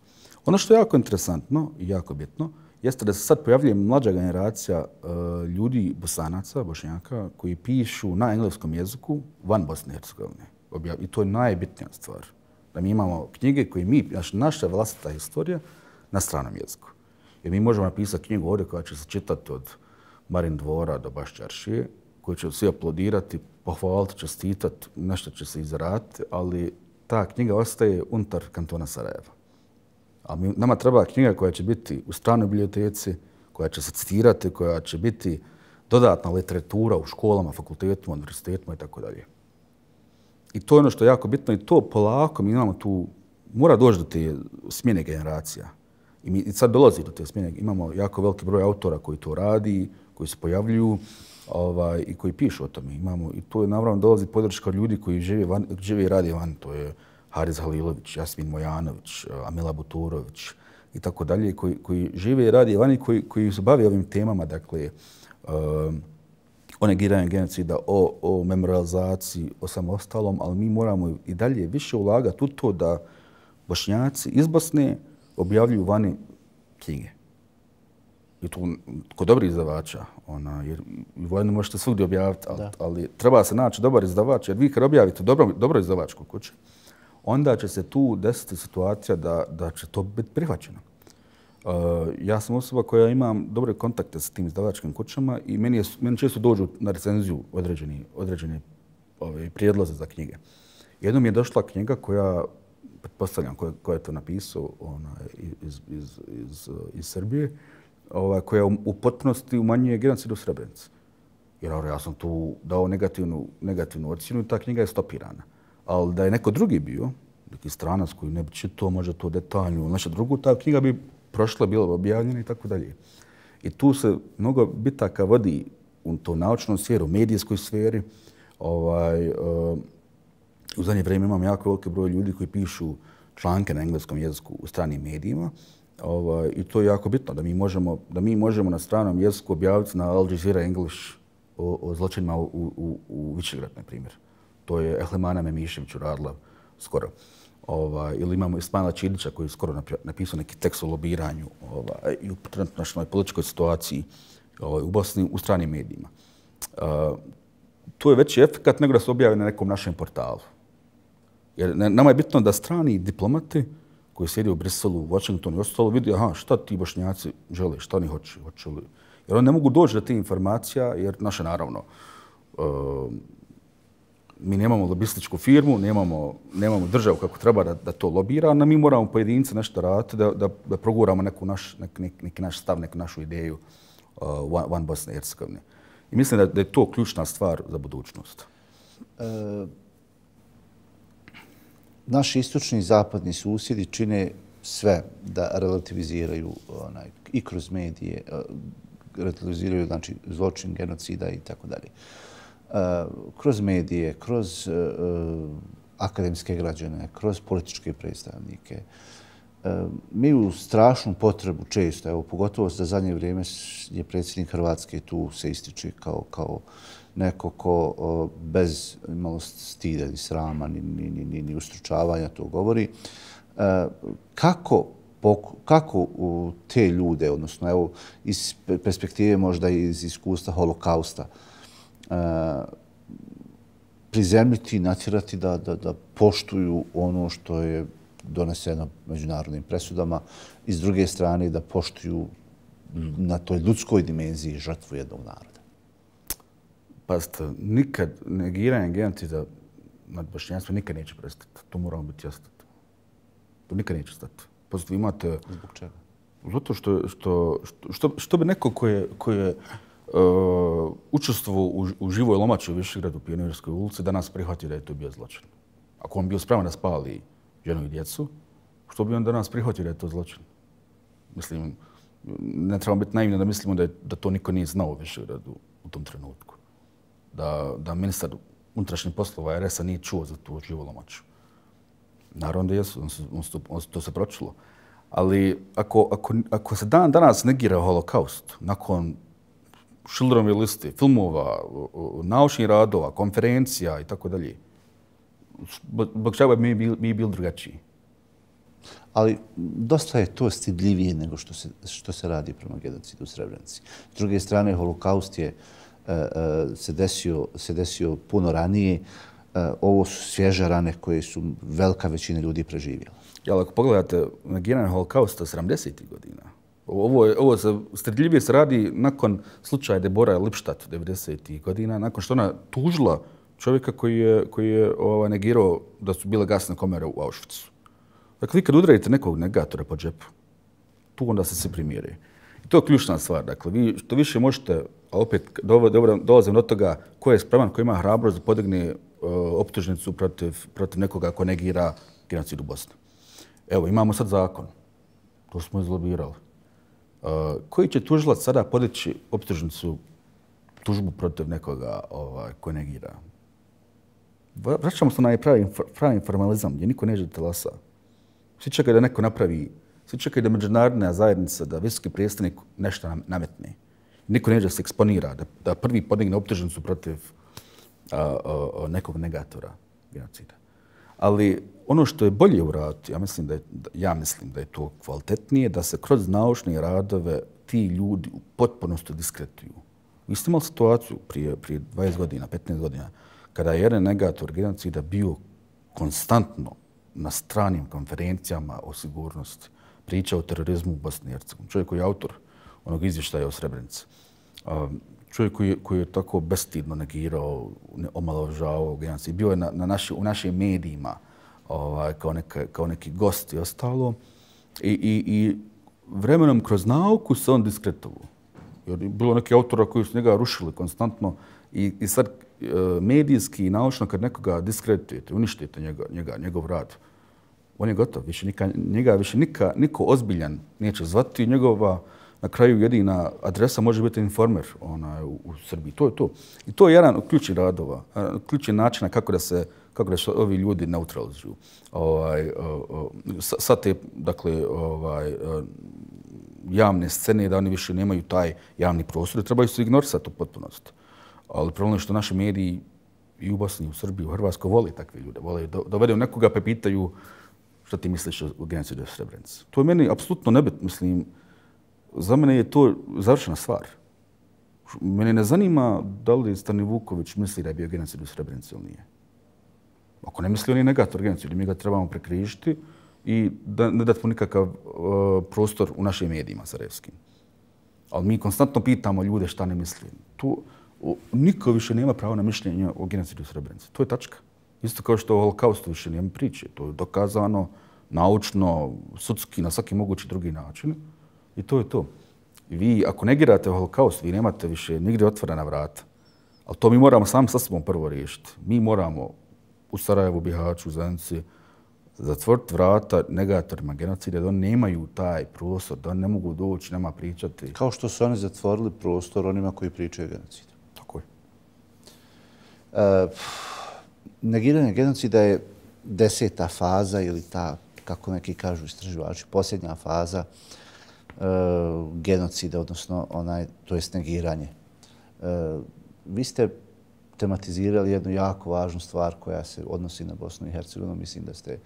Ono što je jako interesantno i jako bitno jeste da se sad pojavljuje mlađa generacija uh, ljudi, Bosanaca, Bošnjaka, koji pišu na engleskom jeziku van Bosne i Hercegovine. I to je najbitnija stvar. Da mi imamo knjige koje mi, naša vlastita historija, na stranom jeziku. Jer mi možemo napisati knjigu ovdje koja će se čitati od Marin Dvora do Baščaršije, koji će svi aplodirati, pohvaliti, čestitati, nešto će se izraditi, ali ta knjiga ostaje unutar kantona Sarajeva. A mi, nama treba knjiga koja će biti u stranoj biblioteci, koja će se citirati, koja će biti dodatna literatura u školama, fakultetima, univerzitetima i tako dalje. I to je ono što je jako bitno i to polako mi imamo tu, mora doći do te smjene generacija. I, mi, i sad dolazi do te smjene. Imamo jako veliki broj autora koji to radi, koji se pojavljuju ovaj, i koji pišu o tome. Imamo, i to je naravno dolazi podrška od ljudi koji žive, van, žive i radi van. To je Haris Halilović, Jasmin Mojanović, Amila Buturović i tako dalje, koji, koji žive i radi van i koji, koji se bave ovim temama, dakle, um, o negiranju genocida, o, o memorializaciji, o samostalom, ali mi moramo i dalje više ulagati u to da Bošnjaci iz Bosne objavljuju vani knjige. I tu kod dobrih izdavača, ona, jer vojno možete svugdje objaviti, ali, ali treba se naći dobar izdavač, jer vi kad objavite dobro, dobro izdavačku kuću, onda će se tu desiti situacija da, da će to biti prihvaćeno. Uh, ja sam osoba koja imam dobre kontakte s tim izdavačkim kućama i meni, je, meni često dođu na recenziju određeni, određene ove, prijedloze za knjige. Jednom je došla knjiga koja, pretpostavljam koja, koja je to napisao ona, iz, iz, iz, iz Srbije, ova, koja u potpunosti umanjuje genocid u Srebrenici. Jer ja sam tu dao negativnu, negativnu ocjenu i ta knjiga je stopirana. Ali da je neko drugi bio, neki stranac koji ne bi čitao možda to detaljno, nešto drugo, ta knjiga bi prošla, bila objavljena i tako dalje. I tu se mnogo bitaka vodi u to naučnom sferu, u medijskoj sferi. Ovaj, uh, u zadnje vrijeme imam jako veliki broj ljudi koji pišu članke na engleskom jeziku u stranim medijima. Ovaj, I to je jako bitno da mi možemo, da mi možemo na stranom jeziku objaviti na Al Jazeera English o, o zločinima u, u, u Višegrad, na primjer. To je Ehlemana Memišević uradila skoro. Ovaj, ili imamo Ismaila Čidića koji je skoro napisao neki tekst o lobiranju ovaj, i u trenutnoj političkoj situaciji ovaj, u Bosni u stranim medijima. Uh, to je veći efekt nego da se objavi na nekom našem portalu. Jer nama je bitno da strani diplomati koji sjedi u Briselu, u Washingtonu i ostalo vidi aha, šta ti Bošnjaci žele, šta oni hoće, hoće li. Jer oni ne mogu doći do te informacija jer naše naravno uh, mi nemamo lobističku firmu, nemamo, nemamo državu kako treba da, da to lobira, a mi moramo pojedince nešto raditi da, da, da proguramo neku naš, nek, nek, neki naš stav, neku našu ideju uh, One Bosne i Hercegovine. I mislim da, da je to ključna stvar za budućnost. E, naši istočni i zapadni susjedi čine sve da relativiziraju onaj, i kroz medije, relativiziraju znači, zločin, genocida i tako dalje. Kroz medije, kroz uh, akademske građane, kroz političke predstavnike. Uh, mi u strašnu potrebu često, evo, pogotovo za zadnje vrijeme je predsjednik Hrvatske tu se ističe kao, kao neko ko uh, bez malo stida ni srama ni, ni, ni, ni, ni ustručavanja to govori. Uh, kako kako u te ljude, odnosno evo, iz perspektive možda iz iskustva holokausta, Uh, prizemljiti i natjerati da, da, da poštuju ono što je doneseno međunarodnim presudama i s druge strane da poštuju na toj ljudskoj dimenziji žrtvu jednog naroda. Pazite, nikad negiranje genocida nad Bošnjanstvom nikad neće prestati. To moramo biti jasni. To nikad neće stati. Pazite, imate... Zbog čega? Zato što, što, što, što bi neko ko je, ko je Uh, učestvovao u, u živoj lomači u Višegradu u Pionirskoj ulici, danas prihvatio da je to bio zločin. Ako on bio spreman da spali ženu i djecu, što bi on danas prihvatio da je to zločin? Mislim, ne trebamo biti naivni da mislimo da, je, da to niko nije znao u Višegradu u tom trenutku. Da, da ministar unutrašnjih poslova R S-a nije čuo za tu živou lomaču. Naravno da jesu, on se, on se, on se, to se pročulo. Ali ako, ako, ako se dan danas negira holokaust, nakon Schillerove liste, filmova, naučnih radova, konferencija i tako dalje. Zbog čega bi mi, mi bili drugačiji? Ali dosta je to stidljivije nego što se, što se radi prema genocidu u Srebrenici. S druge strane, holokaust je uh, se, desio, se desio puno ranije. Uh, ovo su svježe rane koje su velika većina ljudi preživjela. Ja, ako pogledate negiranje holokausta sedamdesetih godina, Ovo, ovo se stidljivije se radi nakon slučaja Debora Lipstadt devedesetih godina, nakon što ona tužila čovjeka koji je, koji je ovaj, negirao da su bile gasne komere u Auschwitzu. Dakle, vi kad udarite nekog negatora po džepu, tu onda se se primjeri. I to je ključna stvar. Dakle, vi što više možete, a opet dolazim do toga ko je spreman, ko ima hrabrost da podigne uh, optužnicu protiv, protiv nekoga ko negira genocid u Bosni. Evo, imamo sad zakon. To smo izlobirali. Uh, koji će tužilac sada podići optužnicu, tužbu protiv nekoga ovaj, ko negira? Vraćamo se na pravi, pravi formalizam gdje niko neće telasa. Svi čekaju da neko napravi, svi čekaju da međunarodna zajednica, da visoki predstavnik nešto nametne. Niko neće da se eksponira, da, da prvi podigne optužnicu protiv uh, uh, nekog negatora genocida. Ali ono što je bolje uraditi, ja mislim da je, ja mislim da je to kvalitetnije, da se kroz naučne radove ti ljudi u potpunosti diskretuju. Vi ste imali situaciju prije, prije dvadeset godina, petnaest godina, kada je jedan negator genocida bio konstantno na stranim konferencijama o sigurnosti, priča o terorizmu u Bosni i Hercegovini. Čovjek koji je autor onog izvještaja o Srebrenici. Čovjek koji, koji je tako bestidno negirao, omalovažavao genocid. Bio je na, na naši, u našim medijima ovaj, kao, neka, kao neki gost i ostalo. I, i, i vremenom kroz nauku se on diskretovao. Jer je bilo neki autora koji su njega rušili konstantno i, i sad medijski i naučno kad nekoga diskretujete, uništite njega, njega, njegov rad, on je gotov. Više nika, njega više nika, niko ozbiljan neće zvati. Njegova na kraju jedina adresa može biti Informer ona, u, u Srbiji. To je to. I to je jedan od ključnih radova, ključnih načina kako da se kako da se ovi ljudi neutralizuju. Ovaj, sad te, dakle, ovaj, javne scene da oni više nemaju taj javni prostor, trebaju se ignorisati u potpunosti. Ali problem je što naši mediji i u Bosni, i u Srbiji, u Hrvatskoj vole takve ljude. Vole dovedu nekoga pa pitaju što ti misliš o genocidu u Srebrenici. To je meni apsolutno nebitno. Mislim, za mene je to završena stvar. Mene ne zanima da li Stani Vuković misli da je bio genocid u Srebrenici ili nije. Ako ne misli, on je negator genocida. Mi ga trebamo prekrižiti i da, ne dati mu nikakav uh, prostor u našim medijima sarajevskim. Ali mi konstantno pitamo ljude šta ne misli. Tu, niko više nema pravo na mišljenje o genocidu u Srebrenici. To je tačka. Isto kao što o holokaustu više nema priče. To je dokazano naučno, sudski, na svaki mogući drugi način. I to je to. I vi, ako negirate holokaust, vi nemate više nigdje otvorena vrata. Ali to mi moramo sami sa sobom prvo riješiti. Mi moramo u Sarajevu, Bihaću, Zenici zatvoriti vrata negatorima genocida, da oni nemaju taj prostor, da oni ne mogu doći, nema pričati. Kao što su oni zatvorili prostor onima koji pričaju genocid. Tako je. E, negiranje genocida je deseta faza ili ta, kako neki kažu istraživači, posljednja faza e, genocida, odnosno onaj, to jest negiranje. E, vi ste tematizirali jednu jako važnu stvar koja se odnosi na Bosnu i Hercegovinu. Mislim da ste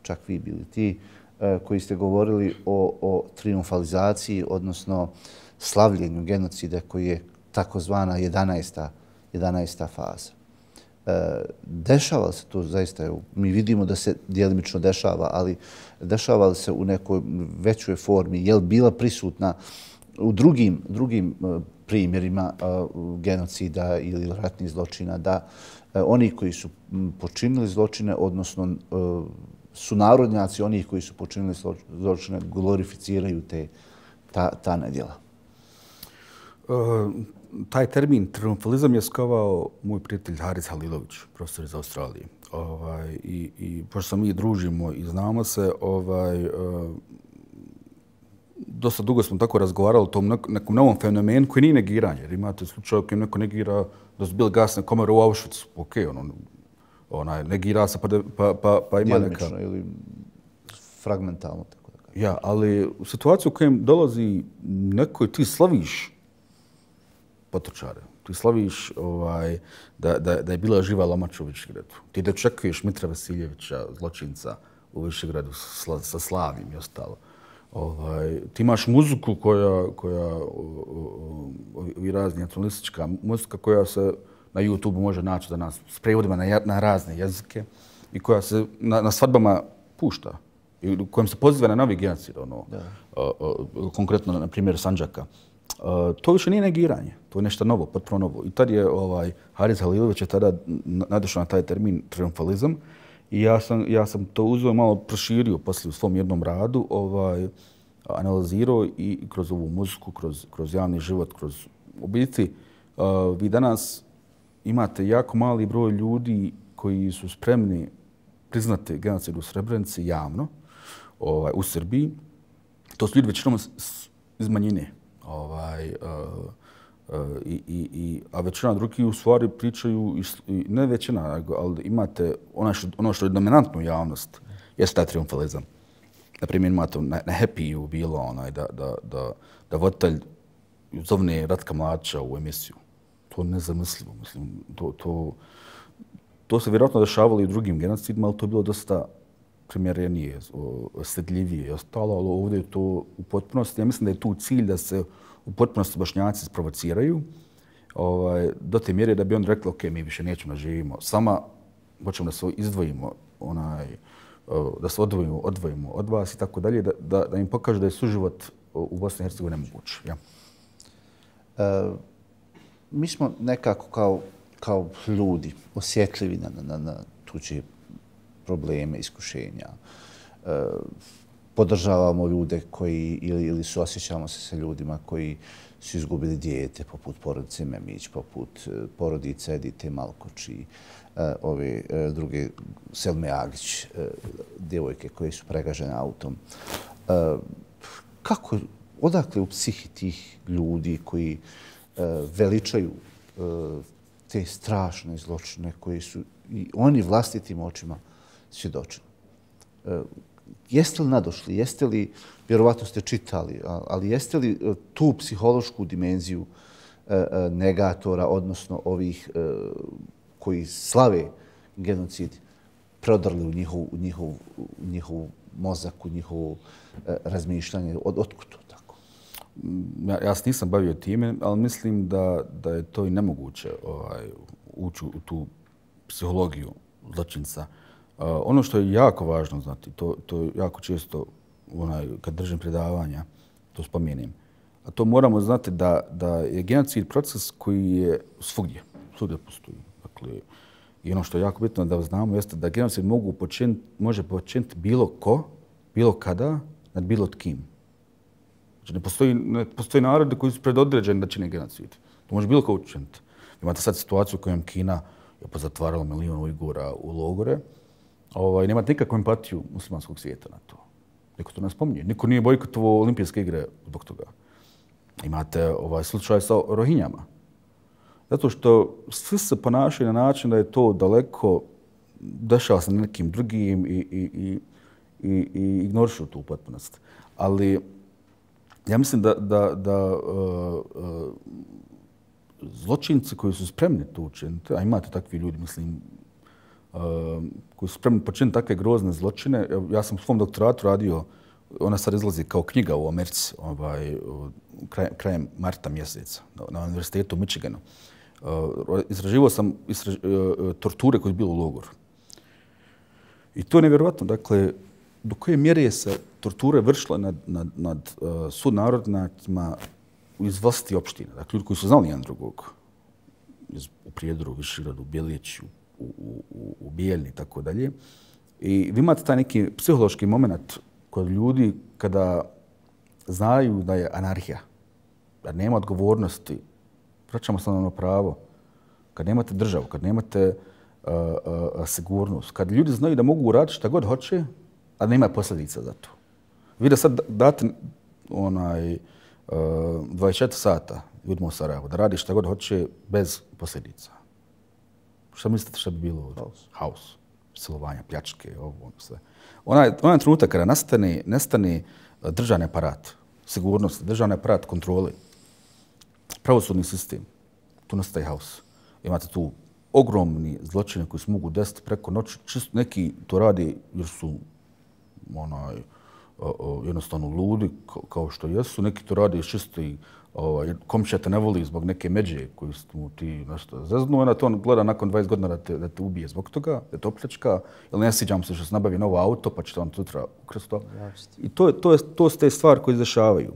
čak vi bili ti e, koji ste govorili o, o triumfalizaciji, odnosno slavljenju genocida koji je takozvana jedanaesta jedanaesta faza. E, dešava se to zaista, evo, mi vidimo da se djelimično dešava, ali dešava se u nekoj većoj formi. Je li bila prisutna u drugim, drugim primjerima uh, genocida ili ratnih zločina, da uh, oni koji su počinili zločine, odnosno uh, sunarodnjaci onih koji su počinili zločine, glorificiraju te, ta, ta nedjela? Uh, taj termin triumfalizam je skovao moj prijatelj Haris Halilović, profesor iz Australije. Ovaj, i, I pošto se mi družimo i znamo se, ovaj, uh, dosta dugo smo tako razgovarali o tom nekom novom fenomenu koji nije negiranje. Jer imate slučaj kojem neko negira da su bili gasne komore u Auschwitzu. Ok, ono, onaj, negira se pa, pa, pa, pa ima neka... Djelimično ili fragmentalno, tako da kažem. Ja, ali u situaciju u kojem dolazi neko i ti slaviš potočare, ti slaviš ovaj, da, da, da je bila živa Lomača u Višegradu. Ti da čekuješ Mitra Vasiljevića, zločinca u Višegradu sa, sa Slavim i ostalo. Ovaj, ti imaš muziku koja, koja ovi razni nacionalistička muzika koja se na YouTube može naći da nas s prevodima na, na razne jezike i koja se na, na svadbama pušta i u kojem se poziva na novi genocid, ono, a, a, konkretno na primjer Sandžaka. A, to više nije negiranje, to je nešto novo, potpuno novo. I tad je ovaj, Haris Halilović je tada nadešao na taj termin triumfalizam. I ja sam, ja sam to uzeo malo proširio poslije u svom jednom radu, ovaj, analizirao i kroz ovu muziku, kroz, kroz javni život, kroz u biti. Uh, vi danas imate jako mali broj ljudi koji su spremni priznati genocid u Srebrenici javno, ovaj, u Srbiji. To su ljudi većinom iz manjine. Ovaj, uh, Uh, i, i, i, a većina drugih u stvari pričaju, i, ne većina, ali imate ono što, ono što je dominantno javnost, jeste taj triumfalizam. Naprimjer, imate na, na Happy-u bilo onaj, da, da, da, da voditelj zovne Ratka Mladića u emisiju. To je nezamislivo. Mislim, to, to, to se vjerojatno dešavalo i u drugim genocidima, ali to je bilo dosta primjerenije, osjetljivije i ostalo, ali ovdje je to u potpunosti. Ja mislim da je tu cilj da se u potpunosti Bošnjaci sprovociraju ovaj, do te mjere da bi on rekli ok, mi više nećemo da živimo sama, hoćemo da se izdvojimo, onaj, da se odvojimo, odvojimo od vas i tako dalje, da, da, da im pokaže da je suživot u Bosni i Hercegovini nemoguć. Ja. E, mi smo nekako kao, kao ljudi osjetljivi na, na, na tuđe probleme, iskušenja. E, podržavamo ljude koji, ili, ili suosjećamo se sa ljudima koji su izgubili dijete, poput porodice Memić, poput porodice Edite Malkoči, ove druge Selme Agić, djevojke koje su pregažene autom. Kako, odakle u psihi tih ljudi koji veličaju te strašne zločine koji su i oni vlastitim očima svjedočili? Jeste li nadošli, jeste li, vjerovatno ste čitali, ali jeste li tu psihološku dimenziju negatora, odnosno ovih koji slave genocid, prodrli u njihov, u njihov, u njihov mozak, u njihovo razmišljanje? Od, otkud to tako? Ja, ja se nisam bavio time, ali mislim da, da je to i nemoguće ovaj, ući u tu psihologiju zločinca. Uh, ono što je jako važno znati, to, to jako često onaj, kad držim predavanja, to spomenem. a to moramo znati da, da je genocid proces koji je svugdje, svugdje postoji. Dakle, i ono što je jako bitno da znamo jeste da genocid mogu počiniti, može počiniti bilo ko, bilo kada, nad bilo tkim. Znači, ne postoji, ne postoji narodi koji su predodređeni da čine genocid. To može bilo ko učiniti. Imate sad situaciju u kojem Kina je pozatvarala milijon Ujgura u logore. Ovaj, nemate nikakvu empatiju muslimanskog svijeta na to. Niko to ne spominje. Niko nije bojkotovao olimpijske igre zbog toga. Imate ovaj slučaj sa Rohinjama. Zato što svi se ponašaju na način da je to daleko, dešava se na nekim drugim i, i, i, i, i ignorišu tu upotpunost. Ali ja mislim da, da, da uh, uh, zločinci koji su spremni to učiniti, a imate takvi ljudi, mislim, uh, koji su spremni počiniti takve grozne zločine. Ja sam u svom doktoratu radio, ona sad izlazi kao knjiga u Americi, ovaj, kraj, krajem marta mjeseca na Univerzitetu u Michiganu. Uh, izraživao sam izraž, uh, torture koje su bile u logoru. I to je nevjerovatno. Dakle, do koje mjere je se torture vršile nad, nad, nad uh, sudnarodnjacima iz vlastiti opštine. Dakle, ljudi koji su znali jedan drugog. Iz, u Prijedoru, u Višegradu, u Bjelići, u, u, u, u Bijeljni i tako dalje. I vi imate taj neki psihološki moment kod ljudi kada znaju da je anarhija, da nema odgovornosti, vraćamo se na ono pravo, kad nemate državu, kad nemate uh, uh, sigurnost, kad ljudi znaju da mogu uraditi šta god hoće, a nema posljedica za to. Vi da sad date onaj, uh, dvadeset četiri sata ljudima u Sarajevu, da radi šta god hoće bez posljedica. Šta mislite šta bi bilo ovdje? Haos. Haos. Silovanja, pljačke, ovo, ono sve. Onaj, onaj trenutak kada nastane, nastane državni aparat, sigurnost, državni aparat kontrole, pravosudni sistem, tu nastaje haos. Imate tu ogromni zločine koji se mogu desiti preko noći. Čisto neki to radi jer su onaj, o, o, jednostavno ludi, kao što jesu. Neki to radi čisto i ovaj, komšija te ne voli zbog neke međe koju mu ti nešto zeznu. Onda to on gleda nakon dvadeset godina da te, da te ubije zbog toga, da te opljačka. Ili ne sviđam se što se nabavi novo auto pa će te on sutra ukrasti to. I to, to, je, to su te stvari koje izdešavaju.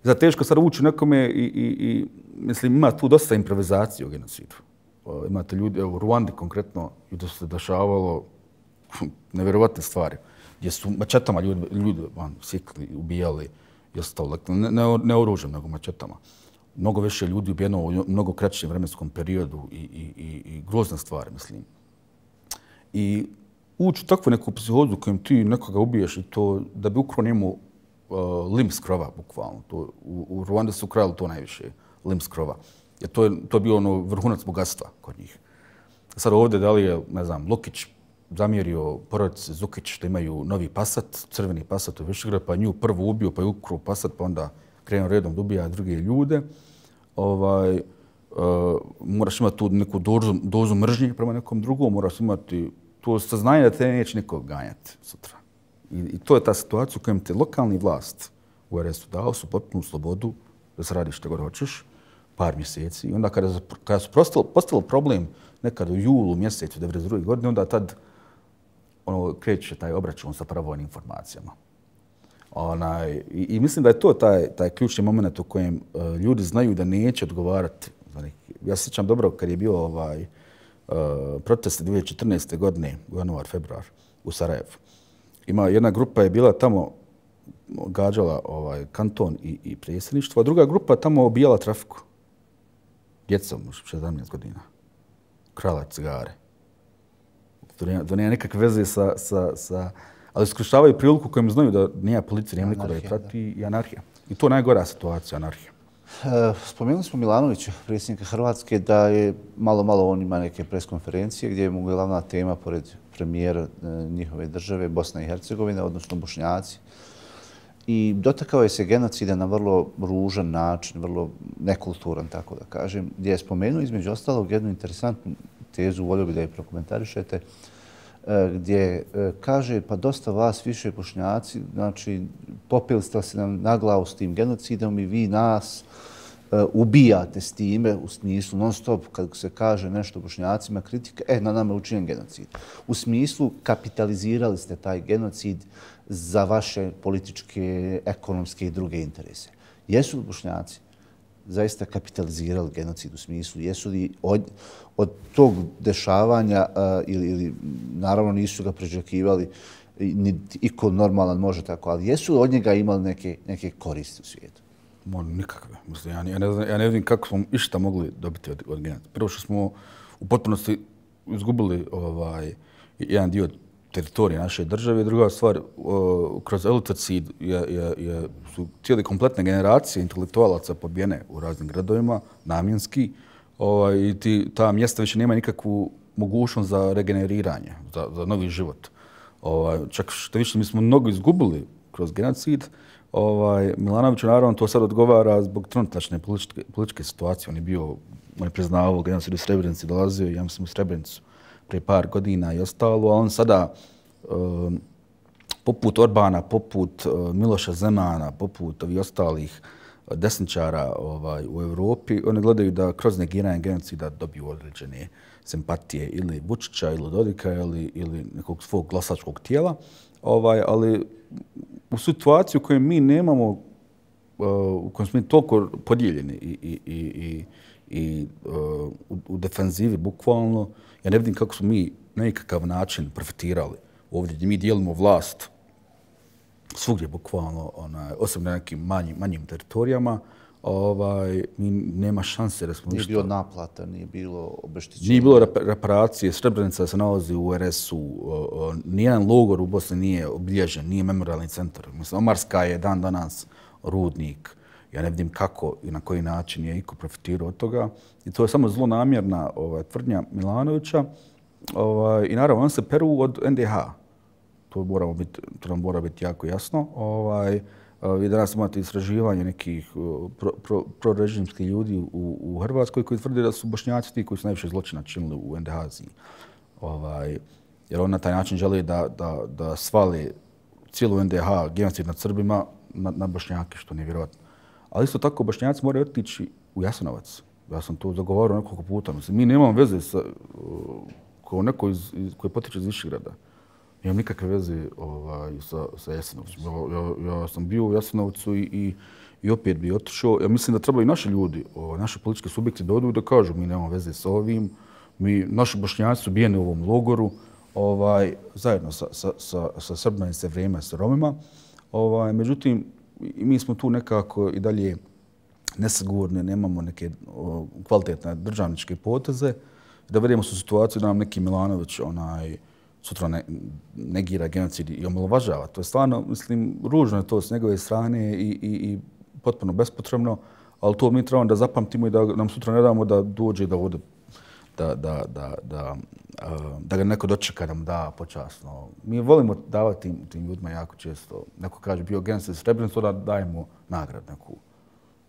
Zato teško sad ući nekome i, i, i mislim, ima tu dosta improvizacije u genocidu. O, imate ljudi, evo, u Ruandi konkretno, gdje su se dešavalo nevjerovatne stvari, gdje su mačetama ljudi, ljudi van, sikli, ubijali i ostalo. Ne, ne, ne oružjem, nego mačetama. Mnogo više ljudi ubijeno u mnogo kraćem vremenskom periodu i, i, i, i grozne stvari, mislim. I ući u takvu neku psihozu kojem ti nekoga ubiješ i to da bi ukro njemu Uh, lim s krova, bukvalno. To, u, u Ruandi su krali to najviše, lim s krova. Jer to je, to je bio ono vrhunac bogatstva kod njih. Sad ovdje da li je, ne znam, Lukić zamjerio porodice Zukić što imaju novi Passat, crveni Passat u Višegradu, pa nju prvo ubio, pa je ukruo Passat, pa onda krenuo redom da ubija druge ljude. Ovaj, uh, moraš imati tu neku dozu, dozu mržnje prema nekom drugom, moraš imati to saznanje da te neće niko ganjati sutra. I, I to je ta situacija u kojem te lokalni vlast u er es u dao su potpunu slobodu da se radi što god hoćeš, par mjeseci. I onda kada, kada su postalo, postalo problem nekad u julu mjesecu devedeset druge godine, onda tad ono, kreće taj obračun sa pravojnim informacijama. Onaj, i, I mislim da je to taj, taj ključni moment u kojem uh, ljudi znaju da neće odgovarati. Ja se sjećam dobro kad je bio ovaj, uh, protest dvije tisuće četrnaeste. godine, u januar, februar, u Sarajevu. Ima jedna grupa je bila tamo gađala ovaj kanton i, i predsjedništvo, a druga grupa tamo obijala trafiku. Djecom, sedamnaest godina. Krala cigare. To nema, to nema nikakve veze sa, sa, sa... Ali iskorištavaju priliku kojim znaju da nije policija, nema niko da je prati i anarhija. I to je najgora situacija, anarhija. Spomenuli smo Milanovića, predsjednika Hrvatske, da je malo, malo on ima neke preskonferencije gdje je mu glavna tema, pored premijera njihove države, Bosna i Hercegovina, odnosno Bošnjaci. I dotakao je se genocida na vrlo ružan način, vrlo nekulturan, tako da kažem, gdje je spomenuo između ostalog jednu interesantnu tezu, volio bih da je prokomentarišete, gdje kaže pa dosta vas više Bošnjaci, znači popili ste se nam na glavu s tim genocidom i vi nas ubijate s time u smislu non stop kad se kaže nešto Bošnjacima kritika, e, na nama je učinjen genocid. U smislu kapitalizirali ste taj genocid za vaše političke, ekonomske i druge interese. Jesu li Bošnjaci zaista kapitalizirali genocid u smislu, jesu li od, od tog dešavanja uh, ili, ili naravno nisu ga prežakivali, ni iko normalan može tako, ali jesu li od njega imali neke, neke koristi u svijetu? Mo, nikakve. Mislim, ja, ja, ne znam, ja ne vidim kako smo išta mogli dobiti od, od genocida. Prvo što smo u potpunosti izgubili ovaj, jedan dio teritorije naše države. Druga stvar, o, kroz elitocid je, je, je, su cijeli kompletne generacije intelektualaca pobijene u raznim gradovima, namjenski. Ovaj, I ti, ta mjesta više nema nikakvu mogućnost za regeneriranje, za, za novi život. Ovaj, čak što više, mi smo mnogo izgubili kroz genocid. Ovaj, Milanović naravno to sad odgovara zbog trenutačne političke, političke situacije. On je bio, on je priznavao genocid u Srebrenici, dolazio, ja mislim u Srebrenicu prije par godina i ostalo, a on sada um, poput Orbana, poput uh, Miloša Zemana, poput ovih ostalih desničara ovaj, u Europi, oni gledaju da kroz negiranje genocida dobiju određene simpatije ili Vučića, ili Dodika, ili, ili nekog svog glasačkog tijela. Ovaj, ali u situaciji u kojoj mi nemamo, uh, u kojoj smo mi toliko podijeljeni i, i, i, i, i uh, u, u defenzivi bukvalno, ja ne vidim kako smo mi na nekakav način profitirali ovdje gdje mi dijelimo vlast svugdje bukvalno, onaj, osim na nekim manjim, manjim teritorijama, ovaj, mi nema šanse da smo nije ništa... Nije bilo naplata, nije bilo obeštećenja. Nije bilo reparacije, Srebrenica se nalazi u er es u, nijedan logor u Bosni nije obilježen, nije memorialni centar. Mislim, Omarska je dan danas rudnik. Ja ne vidim kako i na koji način je iko profitirao od toga. I to je samo zlonamjerna ovaj, tvrdnja Milanovića. Ovaj, I naravno, on se peru od en de ha. To, moramo biti, to nam mora biti jako jasno. Ovaj, vi danas imate istraživanje nekih prorežimskih pro, pro ljudi u, u Hrvatskoj koji tvrde da su Bošnjaci ti koji su najviše zločina činili u en de ha. Ovaj, jer on na taj način želi da, da, da svali cijelu en de ha, genocid nad Srbima, na, na Bošnjake, što nije vjerojatno. Ali isto tako Bošnjaci moraju otići u Jasenovac. Ja sam to zagovarao nekoliko puta. Mislim, mi nemamo veze sa, kao neko iz, iz, koji potiče iz Višegrada. Nemam nikakve veze ovaj, sa, sa Jasenovcem. Ja, ja, ja sam bio u Jasenovcu i, i, i opet bi otišao. Ja mislim da treba i naši ljudi, ovaj, naši politički subjekti da odu i da kažu mi nemamo veze sa ovim. Mi, naši Bošnjaci su bijeni u ovom logoru ovaj, zajedno sa, sa, sa, sa Srbima i sa vrijeme sa Romima. Ovaj, međutim, mi smo tu nekako i dalje nesigurni, nemamo neke o, kvalitetne državničke poteze. Da vedemo su situaciju da nam neki Milanović onaj, sutra ne, negira genocid i omalovažava. To je stvarno, mislim, ružno je to s njegove strane i, i, i potpuno bespotrebno, ali to mi trebamo da zapamtimo i da nam sutra ne damo da dođe da vode, da, da, da, da, da ga neko dočeka da mu da počasno. Mi volimo davati tim, tim ljudima jako često. Neko kaže bio genocid Srebrenicu, da dajemo nagrad neku.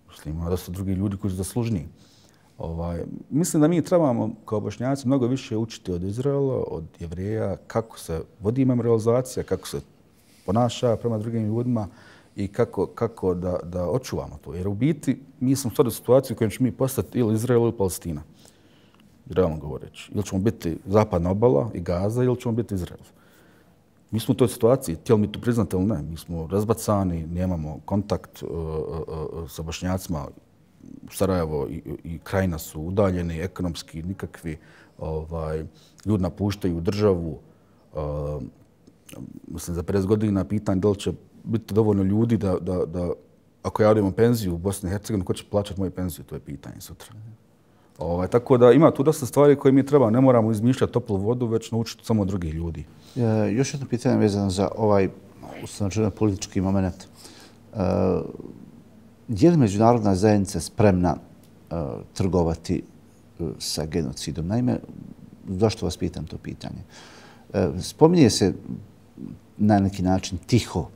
Mislim, ima dosta drugi ljudi koji su zaslužniji. Ovaj, mislim da mi trebamo kao Bošnjaci mnogo više učiti od Izraela, od Jevreja, kako se vodi memorializacija, kako se ponaša prema drugim ljudima i kako, kako da, da očuvamo to. Jer u biti mi smo sad u situaciji u kojoj ćemo mi postati ili Izrael ili Palestina. Realno govoreći. Ili ćemo biti zapadna obala i Gaza ili ćemo biti Izrael. Mi smo u toj situaciji, htjeli mi to priznati ili ne. Mi smo razbacani, nemamo kontakt uh, uh, sa Bošnjacima. Sarajevo i, i Krajina su udaljeni, ekonomski nikakvi. Ovaj, ljudi napuštaju državu. Uh, mislim, za pedeset godina pitanje da li će biti dovoljno ljudi da, da, da ako ja odem u penziju u Bosni i Hercegovini, ko će plaćati moju penziju, to je pitanje sutra. Ovaj, tako da ima tu dosta stvari koje mi treba. Ne moramo izmišljati toplu vodu, već naučiti samo od drugih ljudi. E, još jedno pitanje vezano za ovaj ustanočeno politički moment. E, je li međunarodna zajednica spremna e, trgovati e, sa genocidom? Naime, zašto vas pitam to pitanje? E, spominje se na neki način tiho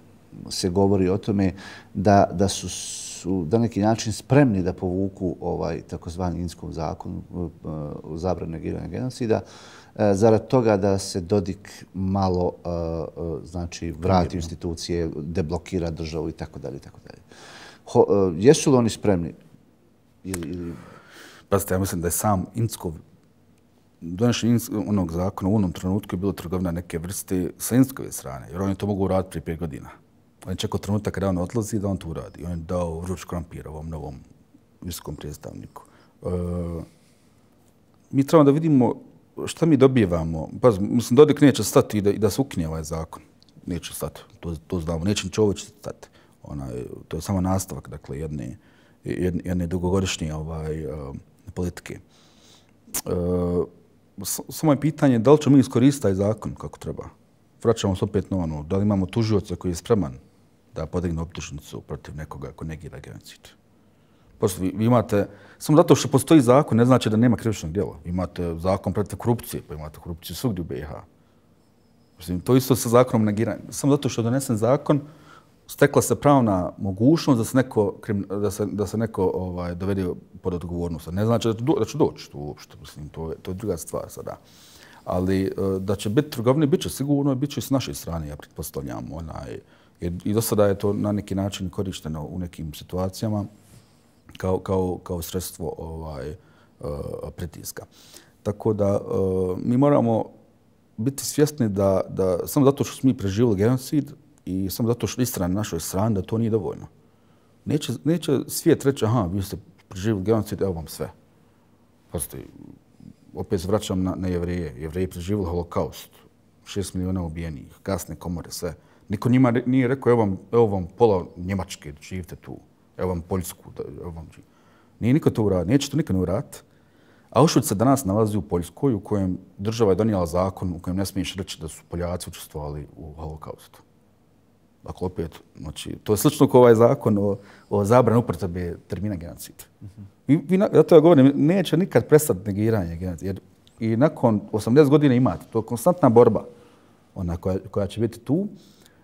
se govori o tome da, da su su na neki način spremni da povuku ovaj takozvani Inskov zakon o zabrani negiranja genocida, zarad toga da se Dodik malo znači vrati u institucije, deblokira državu i tako dalje i tako dalje. Jesu li oni spremni? Ili, ili... Pazite, ja mislim da je sam Inskov donošenje onog zakona u onom trenutku je bilo trgovina neke vrste sa Inskove strane, jer oni to mogu uraditi prije pet godina. On je čekao trenutak kada on odlazi da on to uradi. On je dao vruć krompir ovom novom visokom predstavniku. E, mi trebamo da vidimo šta mi dobijevamo. Pa, mislim, Dodik neće stati i da, i da se ukine ovaj zakon. Neće stati, to, to znamo. Neće Čović stati. Ona, to je samo nastavak, dakle, jedne, jedne, jedne dugogodišnje ovaj, uh, politike. Uh, samo je pitanje da li ćemo mi iskoristiti taj zakon kako treba. Vraćamo se opet na ono, da li imamo tužioca koji je spreman da podigne optužnicu protiv nekoga ko negira genocid. Pošto vi, vi imate, samo zato što postoji zakon, ne znači da nema krivičnog djela. Imate zakon protiv korupcije, pa imate korupciju svugdje u B i H. Mislim, to isto sa zakonom negiranja. Samo zato što je donesen zakon, stekla se pravna mogućnost da se neko, da se, da se neko ovaj, dovede pod odgovornost. Ne znači da, do, da će doći to uopšte. Mislim, to, je, to je druga stvar sada. Ali da će biti trgovine, bit će sigurno, bit će i s naše strane, ja pretpostavljam. Onaj, jer i do sada je to na neki način korišteno u nekim situacijama kao, kao, kao sredstvo ovaj, pritiska. Tako da mi moramo biti svjesni da, da samo zato što smo mi preživjeli genocid i samo zato što istina na našoj strani, da to nije dovoljno. Neće, neće svijet reći, aha, vi ste preživjeli genocid, evo vam sve. Pazite, opet se vraćam na, na Jevreje. Jevreji preživjeli holokaust, šest miliona ubijenih, gasne komore, sve. Niko njima nije rekao, evo vam, evo vam pola Njemačke, živite tu, evo vam Poljsku, evo vam živite. Nije niko to uradio, neće to niko ne uraditi. Auschwitz se danas nalazi u Poljskoj, u kojem država je donijela zakon u kojem ne smiješ reći da su Poljaci učestvovali u holokaustu. Dakle, opet, znači, to je slično kao ovaj zakon o, o zabrani upotrebe termina genocid. Mm-hmm. I, vi, ja to ja govorim, neće nikad prestati negiranje genocida. Jer i nakon osamdeset godina imate, to je konstantna borba ona koja, koja će biti tu.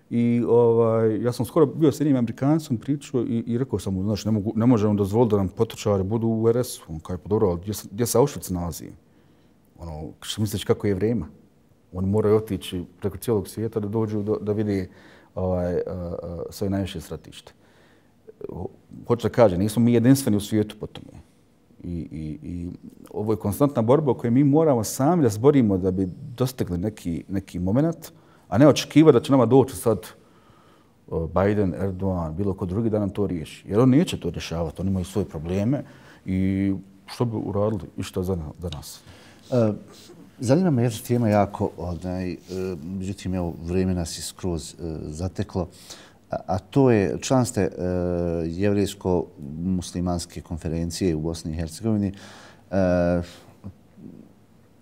I ovaj, ja sam skoro bio s jednim Amerikancom pričao i, i rekao sam mu, znači, ne, mogu, ne možemo dozvoliti da nam potočari budu u er es u. On kao je podobro, gdje, gdje se Auschwitz nalazi? Ono, što misliš kako je vrijeme? Oni moraju otići preko cijelog svijeta da dođu do, da vidi ovaj, uh, uh, svoje najviše stratište. Hoću da kažem, nismo mi jedinstveni u svijetu po tome. I, i, i ovo je konstantna borba o kojoj mi moramo sami da zborimo da bi dostigli neki, neki moment, a ne očekivati da će nama doći sad Biden, Erdogan, bilo ko drugi da nam to riješi. Jer on neće to rješavati, oni imaju svoje probleme i što bi uradili i što za, za nas. Uh, zanima me jedna tema jako, onaj, uh, međutim, evo, vrijeme nas je skroz uh, zateklo, a, a to je član ste uh, Jevrijsko-muslimanske konferencije u Bosni i Hercegovini. Uh,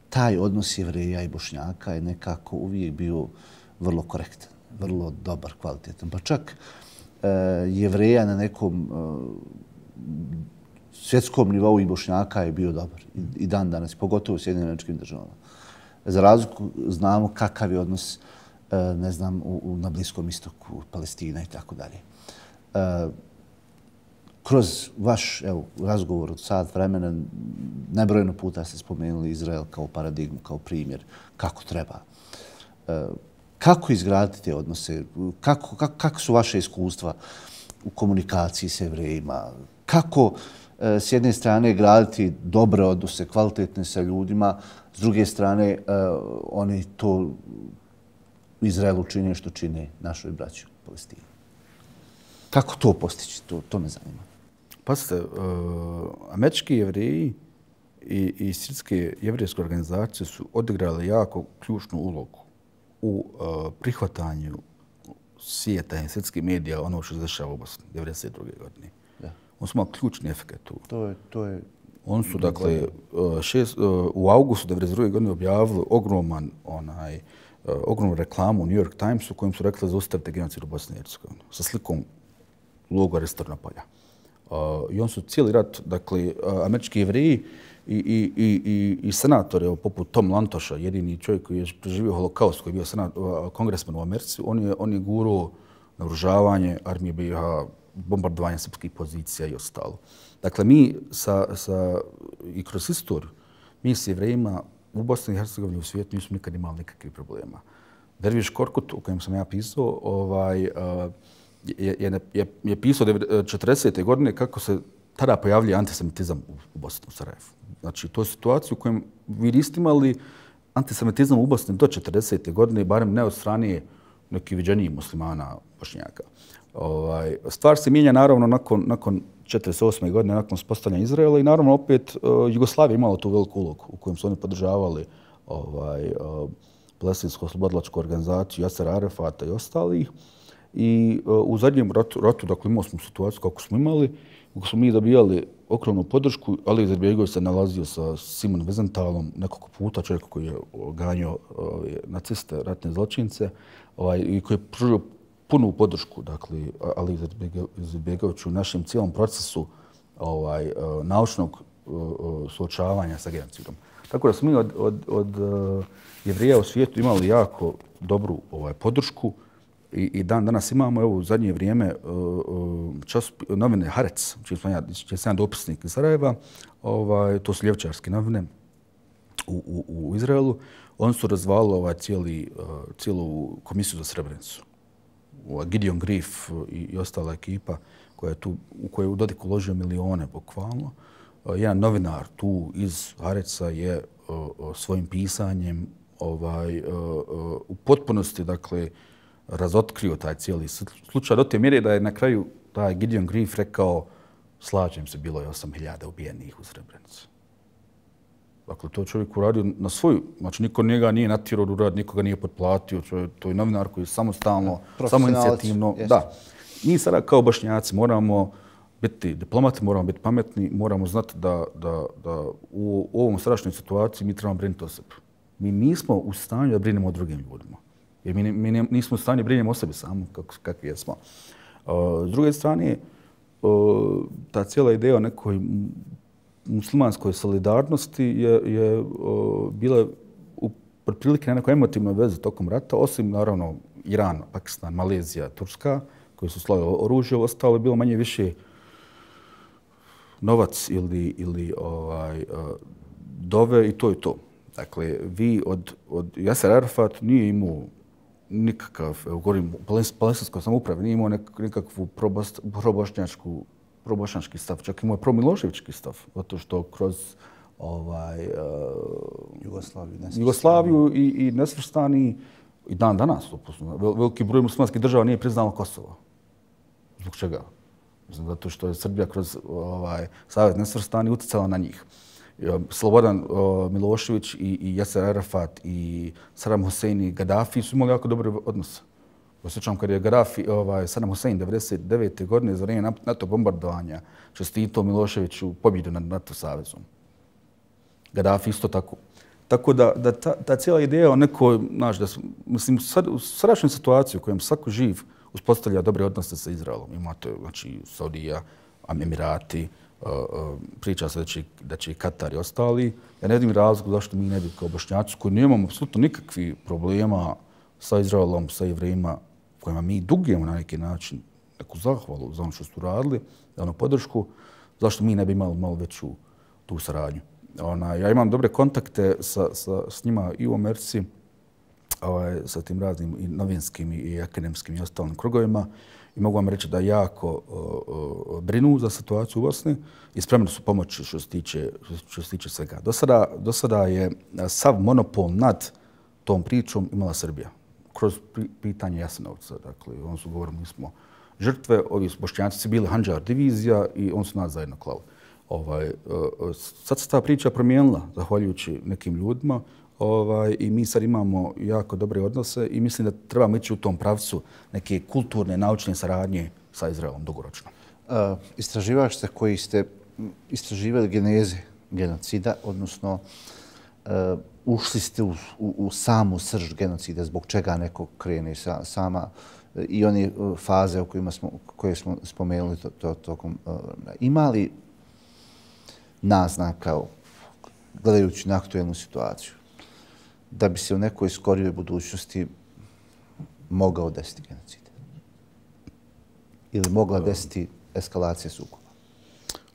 taj odnos Jevreja i Bošnjaka je nekako uvijek bio vrlo korektan, vrlo dobar, kvalitetan. Pa čak e, Jevreja na nekom e, svjetskom nivou i Bošnjaka je bio dobar. I, i dan danas, pogotovo u Sjedinjenim Američkim Državama. Za razliku znamo kakav je odnos e, ne znam, u, u, na Bliskom istoku, Palestina i tako dalje. Kroz vaš evo, razgovor od sat vremena nebrojeno puta ste spomenuli Izrael kao paradigmu, kao primjer kako treba. E, kako izgraditi te odnose? Kako, kako, kako su vaše iskustva u komunikaciji s Jevrejima? Kako e, s jedne strane graditi dobre odnose, kvalitetne sa ljudima, s druge strane e, oni to u Izraelu čine što čine našoj braći u Palestini? Kako to postići? To, to me zanima. Pazite, uh, američki Jevreji i, i srpske jevrijske organizacije su odigrali jako ključnu ulogu u uh, prihvatanju svijeta i svjetskih medija ono što se dešava u Bosni devedeset druge godine. Da. On su imali ključni efekt tu. To je, to je... On su, dakle, uh, šest, uh, u augustu devedeset druge godine objavili ogroman, onaj, uh, ogromnu reklamu u New York Timesu kojim su rekli zaustavite genocid u Bosni i Hercegovini sa slikom logora Stornopolja. Uh, I on su cijeli rat, dakle, uh, američki Jevreji i, i, i, i, i senatori, poput Tom Lantoša, jedini čovjek koji je preživio holokaust, koji je bio senat, uh, kongresman u Americi, on je, on je gurao naoružavanje armije B i H, bombardovanje srpskih pozicija i ostalo. Dakle, mi sa, sa, i kroz istoriju, mi s Jevrejima u Bosni i Hercegovini u svijetu nismo nikad imali nikakvih problema. Derviš Korkut, o kojem sam ja pisao, ovaj, uh, je, je, je, je pisao četrdesete godine kako se tada pojavljuje antisemitizam u Bosni, u Sarajevu. Znači, to je situacija u kojem vi niste imali antisemitizam u Bosni do četrdesete godine, barem ne od strane neki viđeniji muslimana, bošnjaka. Ovaj, stvar se mijenja naravno nakon, nakon četrdeset osme godine, nakon uspostavljanja Izraela i naravno opet uh, Jugoslavija imala tu veliku ulogu u kojem su oni podržavali ovaj, uh, palestinsku oslobodilačku organizaciju Jasera Arefata i ostalih. I uh, u zadnjem ratu, ratu dakle, imali smo situaciju kako smo imali, kako smo mi dobijali ogromnu podršku. Ali Izetbegović se nalazio sa Simon Wiesentalom nekoliko puta, čovjek koji je ganjao uh, naciste, ratne zločince, ovaj, i koji je pružio punu podršku, dakle, Ali Izetbegoviću u našem cijelom procesu ovaj, uh, naučnog uh, suočavanja sa genocidom. Tako da smo mi od, od, od uh, Jevrija u svijetu imali jako dobru ovaj, podršku i, i dan danas imamo, evo, u zadnje vrijeme uh, čas, novine Haaretz, čiji sam ja, čiji sam ja dopisnik iz Sarajeva, ovaj, to su ljevčarske novine u, u, u Izraelu, oni su razvalili ovaj, cijeli, uh, cijelu komisiju za Srebrenicu. Gideon Grief i, i ostala ekipa koja je tu, u kojoj je u Dodiku uložio milione, bukvalno. Uh, jedan novinar tu iz Haaretza je uh, uh, svojim pisanjem ovaj, uh, uh, u potpunosti, dakle, razotkrio taj cijeli slučaj do te mjere da je na kraju taj Gideon Grief rekao slažem se, bilo je osam hiljada ubijenih u Srebrenici. Dakle, to čovjek uradio na svoju, znači niko njega nije natjerao da uradi, nikoga nije potplatio, čovjek, to je novinar koji je samostalno, samoinicijativno. Da. Mi sada kao Bošnjaci moramo biti diplomati, moramo biti pametni, moramo znati da, da, da u ovom strašnoj situaciji mi trebamo brinuti o sebi. Mi nismo u stanju da brinemo o drugim ljudima. Jer mi, mi nismo u stanju da brinemo o sebi samo, kako, kakvi jesmo. Uh, s druge strane, uh, ta cijela ideja o nekoj muslimanskoj solidarnosti je, je uh, bila u prilike na nekoj emotivnoj vezi tokom rata, osim naravno Iran, Pakistan, Malezija, Turska, koji su slali oružje, ostalo je bilo manje više novac ili, ili ovaj, uh, dove i to je to. Dakle, vi od, od Jaser Arafat nije imao nikakav, evo govorim, palestinskoj samoupravi, nije imao nek, nikakvu probošnjačku probošnjački stav, čak imao je promiloševički stav, zato što kroz ovaj, uh, Jugoslaviju, Jugoslaviju i, i nesvrstani i dan danas, vel, veliki broj muslimanskih država nije priznalo Kosovo. Zbog čega? Mislim, zato što je Srbija kroz ovaj, Savez nesvrstani utjecala na njih. Slobodan uh, Milošević i, i Jaser Arafat i Saddam Hussein i Gaddafi su imali jako dobre odnose. Osjećam kad je Gaddafi, ovaj, Saddam Hussein devedeset devete godine za vrijeme NATO bombardovanja čestitao Miloševiću pobjedu nad NATO savezom. Gaddafi isto tako. Tako da, da ta, ta cijela ideja o nekoj, znaš, da su, mislim, sad, u sadašnjoj situaciji u kojem svako živ uspostavlja dobre odnose sa Izraelom. Imate, znači, Saudija, Emirati, uh, uh, priča se da će, da će i Katar i ostali. Ja ne vidim razlog zašto mi ne bi kao Bošnjaci koji nemamo apsolutno nikakvih problema sa Izraelom, sa Jevrejima, kojima mi dugujemo na neki način neku zahvalu za ono što su radili, za ono podršku, zašto mi ne bi imali malo veću tu saradnju. Ona, ja imam dobre kontakte sa, sa, s njima i u Americi, ovaj, sa tim raznim i novinskim i akademskim i ostalim krugovima i mogu vam reći da jako uh, uh, brinu za situaciju u Bosni i spremni su pomoći što se tiče, što se tiče svega. Do sada, do sada je sav monopol nad tom pričom imala Srbija kroz pitanje Jasenovca. Dakle, on su govorili, mi smo žrtve, ovi Bošnjaci su bili Handžar divizija i on su nas zajedno klali. Ovaj, uh, sad se ta priča promijenila, zahvaljujući nekim ljudima, ovaj, i mi sad imamo jako dobre odnose i mislim da trebamo ići u tom pravcu neke kulturne, naučne saradnje sa Izraelom dugoročno. Uh, istraživač ste koji ste istraživali geneze genocida, odnosno uh, ušli ste u, u, u samu srž genocida, zbog čega neko krene sa, sama uh, i one uh, faze o kojima smo, koje smo spomenuli to, to, tokom. Uh, ima li naznaka, gledajući na aktuelnu situaciju, da bi se u nekoj skorijoj budućnosti mogao desiti genocid? Ili mogla desiti eskalacija sukoba?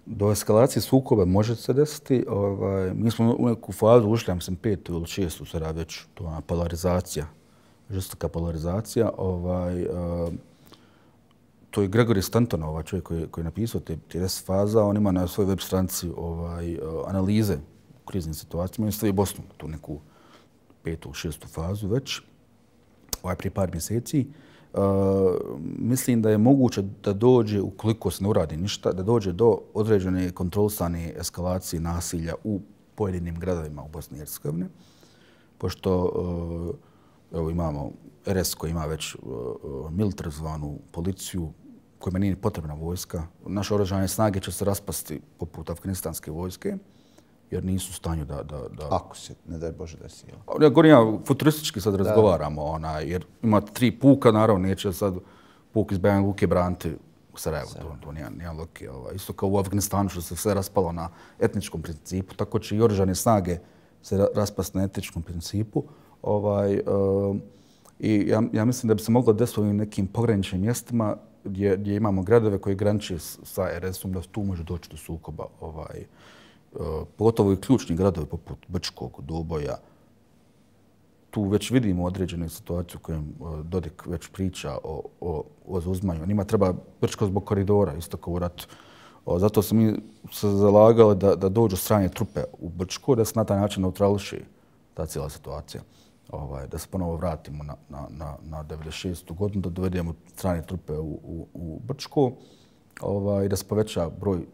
Do eskalacije sukoba može se desiti. Ovaj, mi smo u neku fazu ušli, ja sam petu ili šestu sada već, to je polarizacija, žestoka polarizacija. Ovaj, uh, to je Gregory Stanton, ovaj čovjek koji, koji je napisao te, te deset faza, on ima na svojoj web stranici ovaj, uh, analize u kriznim situacijama i stavi Bosnu, tu neku petu, šestu fazu već. ovaj prije par mjeseci. Uh, mislim da je moguće da dođe, ukoliko se ne uradi ništa, da dođe do određene kontrolisane eskalacije nasilja u pojedinim gradovima u Bosni i Hercegovini. Pošto uh, evo, imamo R S koji ima već uh, militarizovanu policiju, kojima nije potrebna vojska. Naše oružane snage će se raspasti poput afganistanske vojske, jer nisu u stanju da... da, da... Ako se, ne daj Bože da si... Ja govorim, ja futuristički sad razgovaramo, ona, jer imate tri puka, naravno, neće sad puk iz Banja Luke braniti u Sarajevu, to, to nije, nije loki. Ovaj. Isto kao u Afganistanu, što se sve raspalo na etničkom principu, tako će i oružane snage se raspasti na etničkom principu. Ovaj, uh, I ja, ja mislim da bi se moglo desiti u nekim pograničnim mjestima gdje, gdje imamo gradove koji graniče sa R S-om, da tu može doći do sukoba. Ovaj, pogotovo i ključni gradovi poput Brčkog, Doboja. Tu već vidimo određenu situaciju u kojem Dodik već priča o, o, o zauzmanju. Njima treba Brčko zbog koridora, isto kao u ratu. Zato smo mi se zalagali da, da dođu strane trupe u Brčko, da se na taj način neutrališi ta cijela situacija. Ovaj, da se ponovo vratimo na, na, na, na devedeset šestu godinu, da dovedemo strane trupe u, u, u Brčko, ovaj, da se poveća broj uh,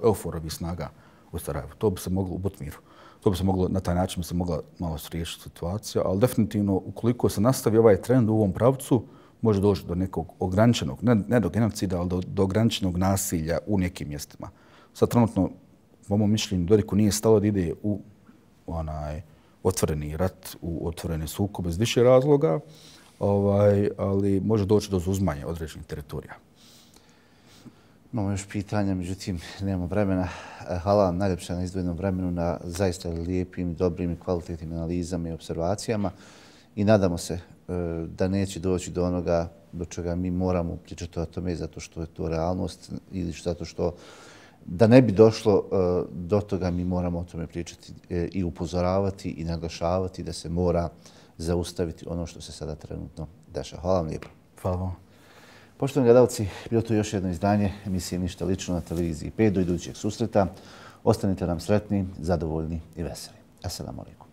euforovih snaga u Sarajevu. To bi se moglo u Butmiru. To bi se moglo, na taj način bi se mogla malo riješiti situacija, ali definitivno ukoliko se nastavi ovaj trend u ovom pravcu, može doći do nekog ograničenog, ne, ne do genocida, ali do, do ograničenog nasilja u nekim mjestima. Sad trenutno, po mom mišljenju, Dodiku nije stalo da ide u onaj otvoreni rat, u otvorene sukobe iz više razloga, ovaj, ali može doći do zauzmanja određenih teritorija. Imamo još pitanja, međutim, nemamo vremena. Hvala vam najljepše na izdvojenom vremenu, na zaista lijepim, dobrim i kvalitetnim analizama i observacijama i nadamo se da neće doći do onoga do čega mi moramo pričati o tome zato što je to realnost ili zato što da ne bi došlo do toga mi moramo o tome pričati i upozoravati i naglašavati da se mora zaustaviti ono što se sada trenutno dešava. Hvala vam lijepo. Hvala vam. Poštovani gledalci, bilo to još jedno izdanje emisije Ništa lično na televiziji pet. Do idućeg susreta. Ostanite nam sretni, zadovoljni i veseli. Assalamu alaikum.